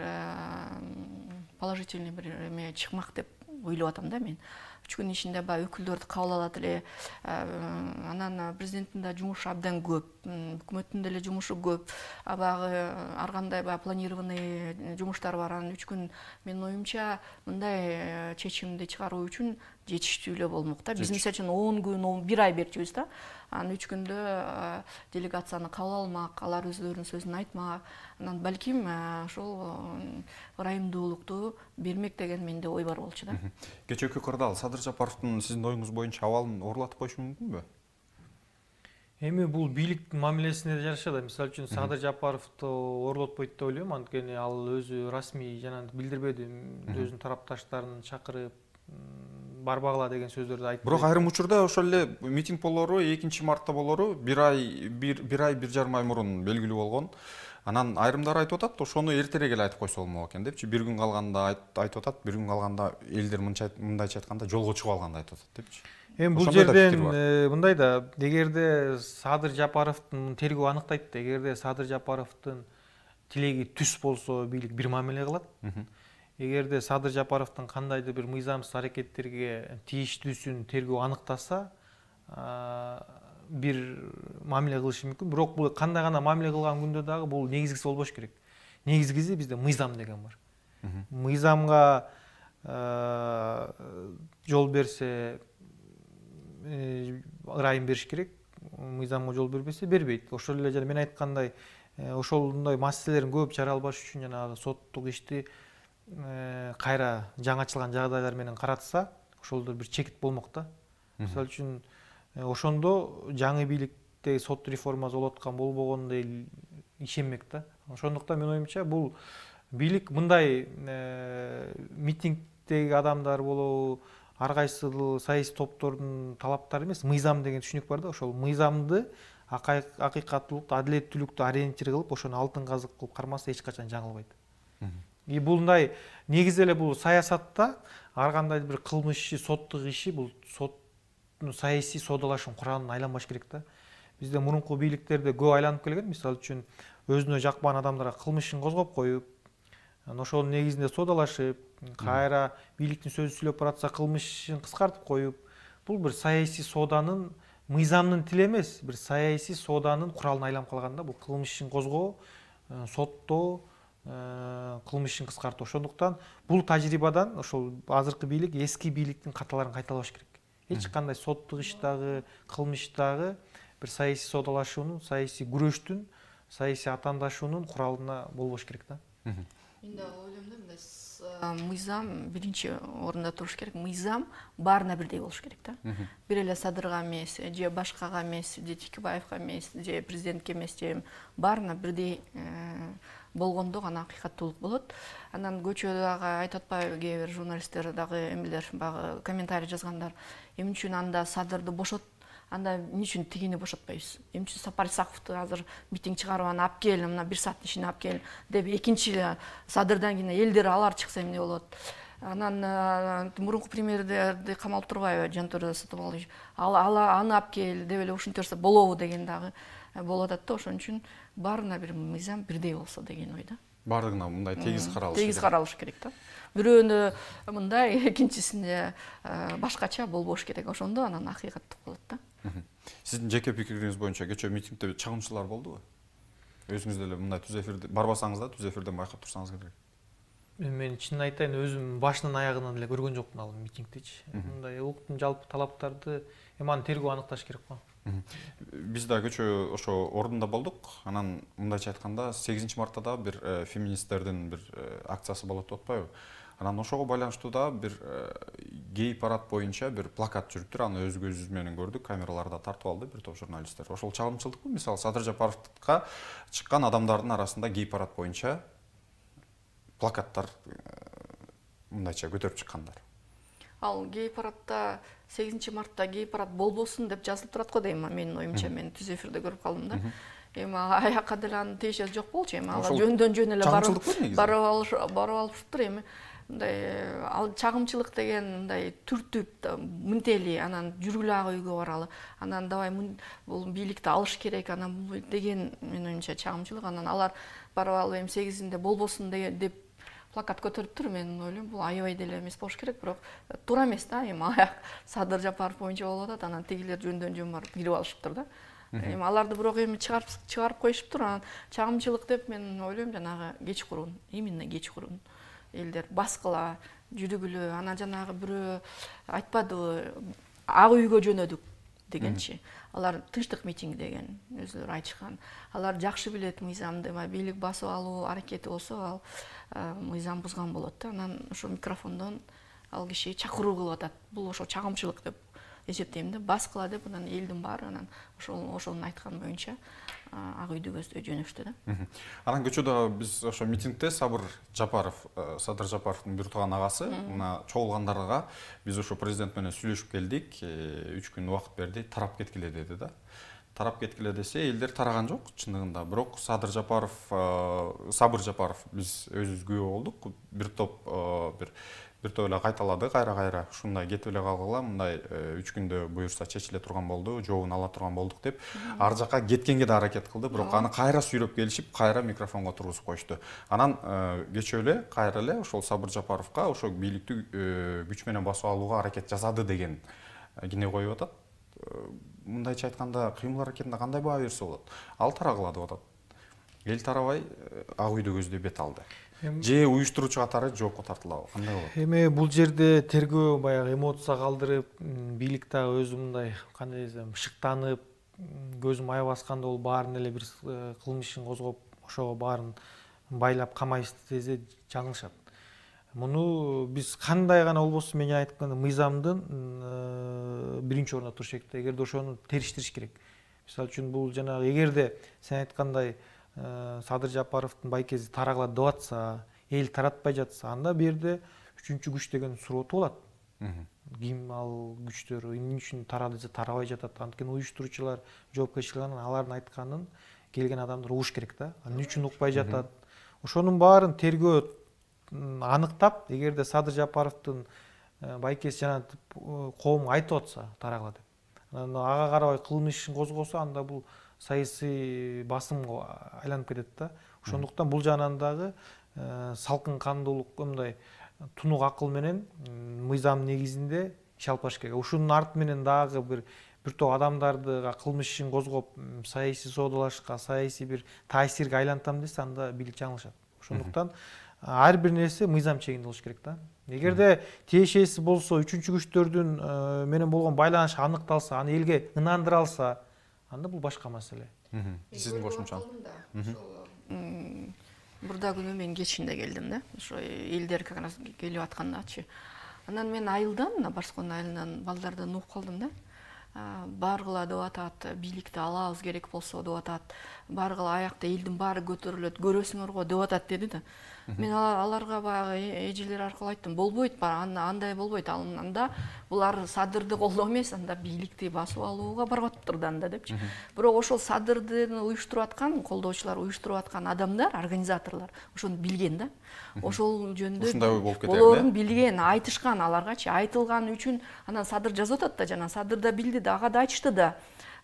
положительный бир эме чыкмак деп ойлоп атам да мен. 3 күн ичинде өкүлдөрдү кабыл алат эле. Анан президенттин да жумушу абдан көп, өкмөттүн деле жумушу көп. Баягы ар кандай планированный жумуштар бар. Анан 3 күн менин оюмча мындай чечимди чыгаруу үчүн жетиштүү эле болмок да. Биз мисалы үчүн 10 күн, 1 ай берчүбүз да. Анан 3 күндө делегацияны кабыл алмак, алар өздөрүнүн сөзүн айтмак. Анан балким ошол ырайымдуулукту бермек деген менде ой бар болчу да. Кечээки кырдаал Садыр Жапаровдун сиздин оюңуз боюнча абалын оорулатып коюшу мүмкүнбү? Эми бул бийликтин мамилесине жараша да. Мисалы үчүн Садыр Жапаровду оорулатпойт деп ойлойм, анткени ал өзү расмий жана билдирбеди, өзүнүн тарапташтарын чакырып барбагыла деген сөздөрдү айтты. Бирок айрым учурда ошол эле митинг болору 2 мартта болору 1 ай 1,5 ай мурун белгилүү болгон. Анан айрымдар айтып атат, ошону эртерээк эле айтып койсо болмок экен депчи. Бир күн калганда айтып атат, бир күн калганда элдер мындайча айтканда жолго чыгып алганда айтып атат депчи. Эми бул жерден мындай да, эгерде Садыр Жапаровдун тергөө аныктайт да, эгерде Садыр Жапаровдун тилеги түз болсо бийлик бир мамиле кылат. Эгерде Садыр Жапаровдун кандайдыр бир мыйзамсыз аракеттерге тийиштүүсүн тергөө аныктаса, бир мамиле кылышы мүмкүн. Бирок бул кандай гана мамиле кылган күндө дагы бул негизгиси болбош керек. Негизгиси бизде мыйзам деген бар. Мыйзамга жол берсе ырайым бериш керек. Мыйзамга жол бербесе бербейт. Ошол эле жана мен айткандай, ошондой маселелерин көп чаралбаш үчүн жанагы соттук ишти кайра жаңачылган жагдайлар менен каратса, ошолдо бир чекит болмок да. Мисалы үчүн ошондо жаңы бийликте сот реформасы болуп аткан болбогондой ишенмек да. Ошондуктан мен оюмча бул бийлик мындай митингдеги адамдар болобу, ар кайсы саясий топтордун талаптары эмес, мыйзам деген түшүнүк бар да. Ошол мыйзамды акыйкаттуулукту, адилеттүүлүктү ориентир кылып, ошону алтын казык кылып кармаса эч качан жаңылбайт. И булдай негизи эле бул саясатта ар кандай бир кылмыш иши, соттук иши бул саясий соодалашуунун куралына айланбаш керек да. Бизде мурунку бийликтерде көп айланып келген. Мисалы үчүн өзүнө жакпаган адамдарга кылмыш ишин козгоп коюп, ошонун негизинде соодалашып, кайра бийликтин сөзү сүйлөп баратса кылмыш ишин кыскартып коюп, бул бир саясий сооданын, мыйзамдын тили эмес, бир саясий сооданын куралына айланып калган да. Бул кылмыш ишин козгоо, соттоо, кылмыш ишин кыскартуу. Ошондуктан бул тажрыйбадан ошол азыркы бийлик эски бийликтин каталарын кайталабаш керек. Эч кандай соттук иштагы, кылмыштагы бир саясий соодалашуунун, саясий күрөштүн, саясий атаандашуунун куралына болбош керек да. Мен да ойлойм да, мындай мыйзам биринчи орунда туруш керек. Мыйзам баарына бирдей болуш керек да. Бир эле Садырга эмес, же башкага эмес, же Текебаевга эмес, же президентке эмес, же баарына бирдей болгондо гана акыйкаттуулук болот. Анан көчөдө дагы айтып атпайбы, кээ бир журналисттер дагы эмелер багы комментарий жазгандар, эмне үчүн анда Садырды бошот, анда эмне үчүн тигини бошотпойбуз? Эмне үчүн Сапар Исаковду азыр митинг чыгарып аны алып кел, мына 1 сааттын ичинде алып кел деп экинчи Садырдан кийин элдер алар чыкса эмне болот? Анан мурунку премьерди камалып турбайбы, Жантөре Сатыбалдиевич? Аны алып кел деп эле ушинтерсе болобу деген дагы болуп атат да. Ошон үчүн баарына бир мыйзам бирдей болсо деген ойда. Бардыгына мындай тегиз каралыш керек. Тегиз каралыш керек да. Бирөөнө мындай, экинчисинде башкача болбош керек. Ошондо анан акыйкаттуу болот да. Сиздин жеке пикириңиз боюнча кечээ митингде чагымчылар болдубу? Өзүңүз деле мындай түз эфирде барбасаңыз да, түз эфирден байкап турсаңыз керек. Мен чынын айтайын, өзүм башынан аягынан эле көргөн жокмун ал митингдичи. Мындай улуттун жалпы талаптарды аны тергөө аныкташ керек го. Биз да көчө ошо ордунда болдук. Анан мындайча айтканда 8 мартта да бир феминисттердин бир акциясы болот деп атпайбы? Анан ошого байланыштуу да бир гей парад боюнча бир плакат жүрүптүр. Аны өз көзүбүз менен көрдүк, камераларда тартып алды бир топ журналисттер. Ошол чагымчылдыкпы? Мисалы Садыр Жапаровго чыккан адамдардын арасында гей парад боюнча плакаттар мындайча көтөрүп чыккандар. Ал гей парадда 8 мартта гей парад болбосун деп жазылып турат го дейм, менин оюмча. Мен түз эфирде көрүп калдым да. Эми аякка деле анын тиешеси жок болчу. Эми алар жөндөн жөн эле барып алышыптыр. Эми мындай ал чагымчылык деген мындай түртүп, мынтели, анан жүргүлө ага үйгө баралы, анан давай бул бийликти алыш керек, анан деген менин оюмча чагымчылык. Анан алар барып алып эми 8-inde болбосун деп плакат көтөрүптүр. Мен ойлойм, бул аябай деле эмес болуш керек, бирок туура эмес да. Эми аяк Садыр Жапаров боюнча болуп атат, анан тигилер жөндөн жөн барып кирип алышыптыр да. Эми аларды бирок эми чыгарып коюшуптур. Анан чагымчылык деп мен ойлойм, жанагы кечкурун, именно кечкурун элдер баскыла, жүрүгүлө, анан жанагы бирөө айтпадыбы, ак үйгө жөнөдүк дегенчи. Алар тынчтык митинг деген өзүлөрү айтышкан. Алар жакшы билет мыйзамды, бийлик басып алуу аракети болсо ал мыйзам бузган болот да. Анан ошо микрофондон ал киши чакыруу кылып атат. Бул ошо чагымчылык деп эсептейм да. Баскыла деп анан элдин баары анан ошонун айтканы боюнча ак үйдү көздөй жөнөштү да. Анан көчөдө биз ошо митингде Садыр Жапаровдун бир тууган агасы мына чогулгандарга биз ошо президент менен сүйлөшүп келдик, 3 күн убакыт берди, тарап кеткиле деди да. тарап кеткиле десе, элдер тараган жок чындыгында. Бирок Сабыр Жапаров биз өзүбүз күбө болдук. Бир топ эле кайталады кайра ушундай кетип эле калгыла, мындай 3 күндө буюрса чечиле турган болду, жообун ала турган болдук деп ар жака кеткенге да аракет кылды, бирок аны кайра сүйрөп келишип, кайра микрофонго тургузуп коюшту. Анан кечөө эле кайра эле ошол Сабыр Жапаровго ошо бийликти күч менен басып алууга аракет жасады деген кине коюп атат. Мындайча айтканда, кыймыл аракетине кандай баа берсе болот? Ал тарагыла деп атат. Эл тарабай Ак үйдө көздөй бет алды. Же уюштуруучу катары жоопко тартылабы? Кандай болот? Эми бул жерде тергөө баягы эмоция калдырып, бийлик дагы өзү мындай кандай десем, шыктанып, көзүм ая басканда ол баарын эле бир кылмышын козгоп, ошого баарын байлап камайбыз десе жаңылышат. Муну биз кандай гана болбосун, мен айтканда мыйзамдын биринчи орунда туруш керек. Эгерде ошону териштириш керек. Мисалы үчүн бул жанагы эгерде сен айткандай Садыр Жапаровдун байкеси тарагыла деп атса, эл таратпай жатса, анда бу жерде үчүнчү күч деген суроо болот. Ким ал күчтөр, эмне үчүн тарады десе тарабай жатат? Анткени уюштуруучулар жоопкерчилигин алардын айтканын келген адамдар угуш керек да. Эмне үчүн укпай жатат? Ошонун баарын тергөө аныктап, эгерде Садыр Жапаровдун байкеси жана коому айтып атса тарагыла деп, ага карабай кылмышын козгосо, анда бул саясий басымга айланып кетет да. Ошондуктан бул жагынан дагы салкын кандуулук, мындай тунук акыл менен мыйзам негизинде иш алып барыш керек. Ушунун арты менен дагы бир топ адамдарды кылмышын козгоп, саясий соодалашка, саясий бир таасирге айлантам десе, анда бийлик жаңылышат. Ошондуктан ар бир нерсе мыйзам чегинде болуш керек да. Эгерде тиешеси болсо, үчүнчү күчтөрдүн менен болгон байланышы аныкталса, аны элге ынандыра алса, анда бул башка маселе. Сиздин кошумчаңыз? Бурда күнү мен кечинде келдим да. Ошо элдер как раз келип аткандачы. Анан мен айылдан, Барскон айылынан балдардан угуп калдым да. Баргыла деп атат, бийликти алабыз керек болсо деп атат. Баргыла аякта элдин баары көтөрүлөт, көрөсүңөр го деп атат деди да. Мен аларга баягы эжелер аркылуу айттым, болбойт, андай болбойт. Анда булар Садырды колдоо эмес, анда бийликти басып алууга барып атыптыр да анда депчи. Бирок ошол Садырды уюштуруп аткан, колдоочулар уюштуруп аткан адамдар, организаторлор ошону билген да. Ошол жөнүндө ушундай ой болуп кетет. Болорун билген, айтышкан аларгачы, айтылган үчүн анан Садыр жазып атат да, жана Садыр да билди да, ага да айтышты да.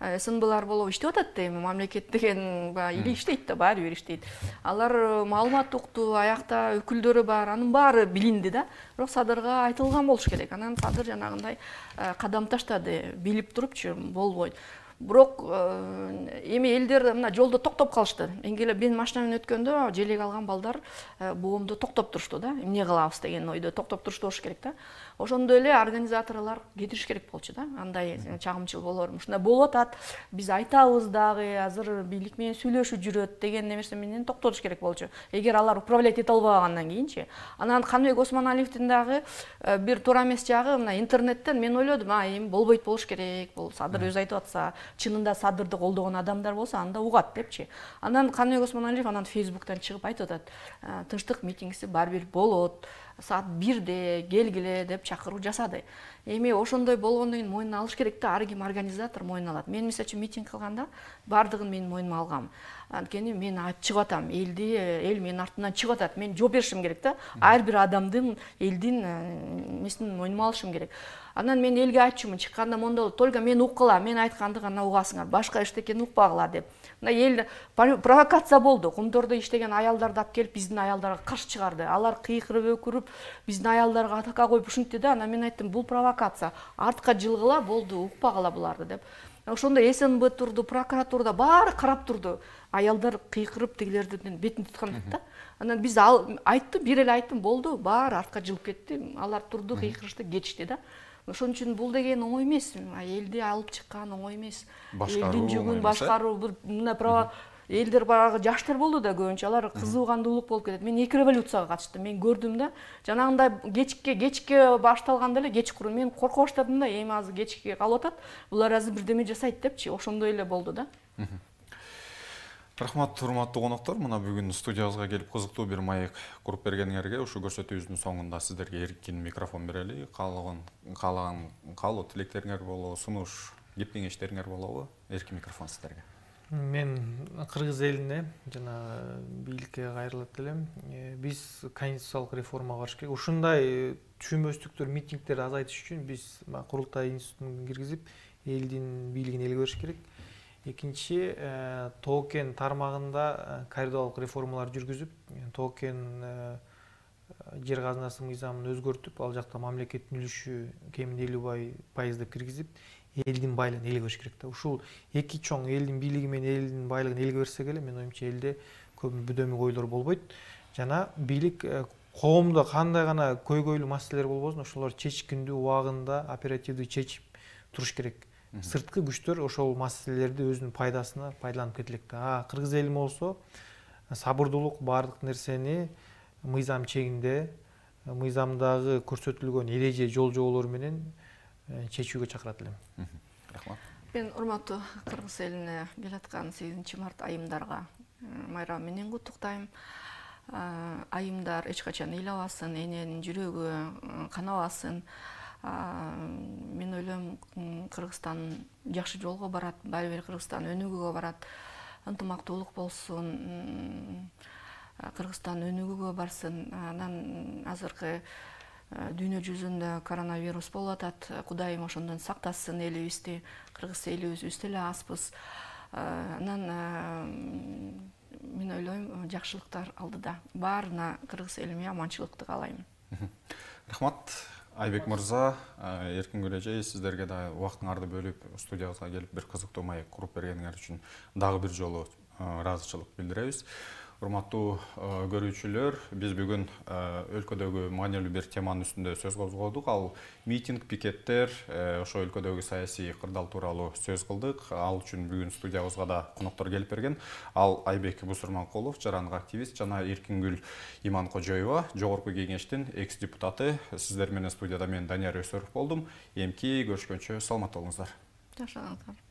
СНБлар болуп иштеп атат да, эми мамлекет деген эле иштейт да, баары бир иштейт. Алар маалымат укту, аякта өкүлдөрү бар, анын баары билинди да. Бирок Садырга айтылган болуш керек. Анан Садыр жанагындай кадам таштады, билип турупчу болбойт. Бирок эми элдер мына жолдо токтоп калышты. Мен машина менен өткөндө желек алган балдар боомдо токтоп турушту да. Эмне кылабыз деген ойдо токтоп турушту болуш керек да. Ошондой эле организаторлор кетириш керек болчу да. Андай чагымчыл болорум. Ушундай болуп атат. Биз айтабыз дагы, азыр бийлик менен сүйлөшүп жүрөт деген нерсе менен токтотуш керек болчу. Эгер алар управлять эте албагандан кийинчи. Анан Каныбек Осмоналиевдин дагы бир туура эмес жагы, мына интернеттен мен ойлодум, эми болбойт болуш керек. Бул Садыр өзү айтып атса, чынында Садырды колдогон адамдар болсо, анда угат депчи. Анан Каныбек Осмоналиев анан Фейсбуктан чыгып айтып атат, тынчтык митингиси баары бир болот, саат 1-де келгиле деп чакыруу жасады. Эми ошондой болгондон кийин мойнуна алыш керек да, ар ким организатор мойнуна алат. Мен мисалы үчүн митинг кылганда бардыгын мен мойнума алгам. Анткени мен чыгып атам, эл менин артымдан чыгып атат. Мен жооп беришим керек да. Ар бир адамдын, элдин эмесин мойнума алышым керек. Анан мен элге айтчумун, чыкканда мондо только мен уккыла, мен айтканды гана угасыңар, башка эчтекени укпагыла деп. Мына эл провокация болду. Кумдордо иштеген аялдарды алып келип биздин аялдарга каршы чыгарды. Алар кыйкырып өкүрүп биздин аялдарга атака коюп ушинтти да. Анан мен айттым, бул провокация. Артка жылгыла, болду, укпагыла буларды деп. Ошондо СНБ турду, прокуратурада баары карап турду. Аялдар кыйкырып тигилердин бетин туткан да. Анан биз айтты, бир эле айттым, болду, баары артка жылып кетти. Алар турду, кыйкырышты, кетишти да. Ошон үчүн бул деген оңой эмес. Элди алып чыккан оңой эмес. Элдин жүгүн башкаруу, бир мына элдер баягы жаштар болду да көбүнчө, алар кызуу кандуулук болуп кетет. Мен 2 революцияга катыштым. Мен көрдүм да. Жанагындай кечке башталганда эле кечкурун мен корко баштадым да. Эми азыр кечке калып атат. Булар азыр бирдеме жасайт депчи. Ошондой эле болду да. Рахмат, урматтуу коноктор. Мына бүгүн студиябызга келип кызыктуу бир маек куруп бергениңерге ушул көрсөтүүбүздүн соңунда сиздерге эркин микрофон берели. Каалаган каалоо тилектериңер болобу, сунуш кеп кеңештериңер болобу? Эркин микрофон сиздерге. Мен кыргыз элине жана бийликке кайрылат элем. Биз конституциялык реформага барыш керек. Ушундай түшүнбөстүктөр, митингтерди азайтыш үчүн биз курултай институтун киргизип, элдин бийлигин элге бериш керек. Экинчи, Тоокен тармагында корридорлук реформалар жүргүзүп, Тоокен жер казынасы мыйзамын өзгөртүп, ал жакта мамлекеттин үлүшү кеминде 50% деп киргизип, элдин байлыгын элге бериш керек да. Ушул эки чоң элдин бийлиги менен элдин байлыгын элге берсек эле, мен оюмча элде көп бүдөмүк ойлор болбойт. Жана бийлик коомдо кандай гана көйгөйлүү маселелер болбосун, ошолор чечкиндүү убагында оперативдүү чечип туруш керек. Сырткы күчтөр ошол маселелерди өзүнүн пайдасына пайдаланып кетелек да. Кыргыз эли болсо сабырдуулук, баардык нерсени мыйзам чегинде, мыйзамдагы көрсөтүлгөн эреже, жол жоболор менен чечүүгө чакырат элем. Рахмат. Мен урматтуу кыргыз элине келаткан 8 март айымдарга майрам менен куттуктайм. Айымдар эч качан ыйлабасын, эненин жүрөгү канабасын. Мен ойлойм, Кыргызстан жакшы жолго барат, баары Кыргызстан өнүгүүгө барат. Ынтымактуулук болсун, Кыргызстан өнүгүүгө барсын. Анан азыркы дүйнө жүзүндө коронавирус болуп атат. Кудайым ошондон сактасын элибизди. Кыргыз элибиз үстө эле аспыз. Анан мен ойлойм, жакшылыктар алдыда. Баарына кыргыз элиме аманчылыкты каалайм. Рахмат. Айбек мырза, Эркин Күрөжей, сиздерге да убактыңарды бөлүп студиябызга келип бир кызыктуу маек куруп бергениңер үчүн дагы бир жолу ыраазычылык билдиребиз. Урматтуу көрүүчүлөр, биз бүгүн өлкөдөгү маанилүү бир теманын үстүндө сөз козгодук. Ал митинг, пикеттер, ошо өлкөдөгү саясий кырдаал тууралуу сөз кылдык. Ал үчүн бүгүн студиябызга да коноктор келип берген. Ал Айбек Бусурманкулов, жарандык активист, жана Эркингүл Иманкожоева, жогорку кеңештин экс-депутаты. Сиздер менен студияда мен Данияр Өсөров болдум. Эмки көрүшкөнчө саламат болуңуздар. Жакшы болуңуздар.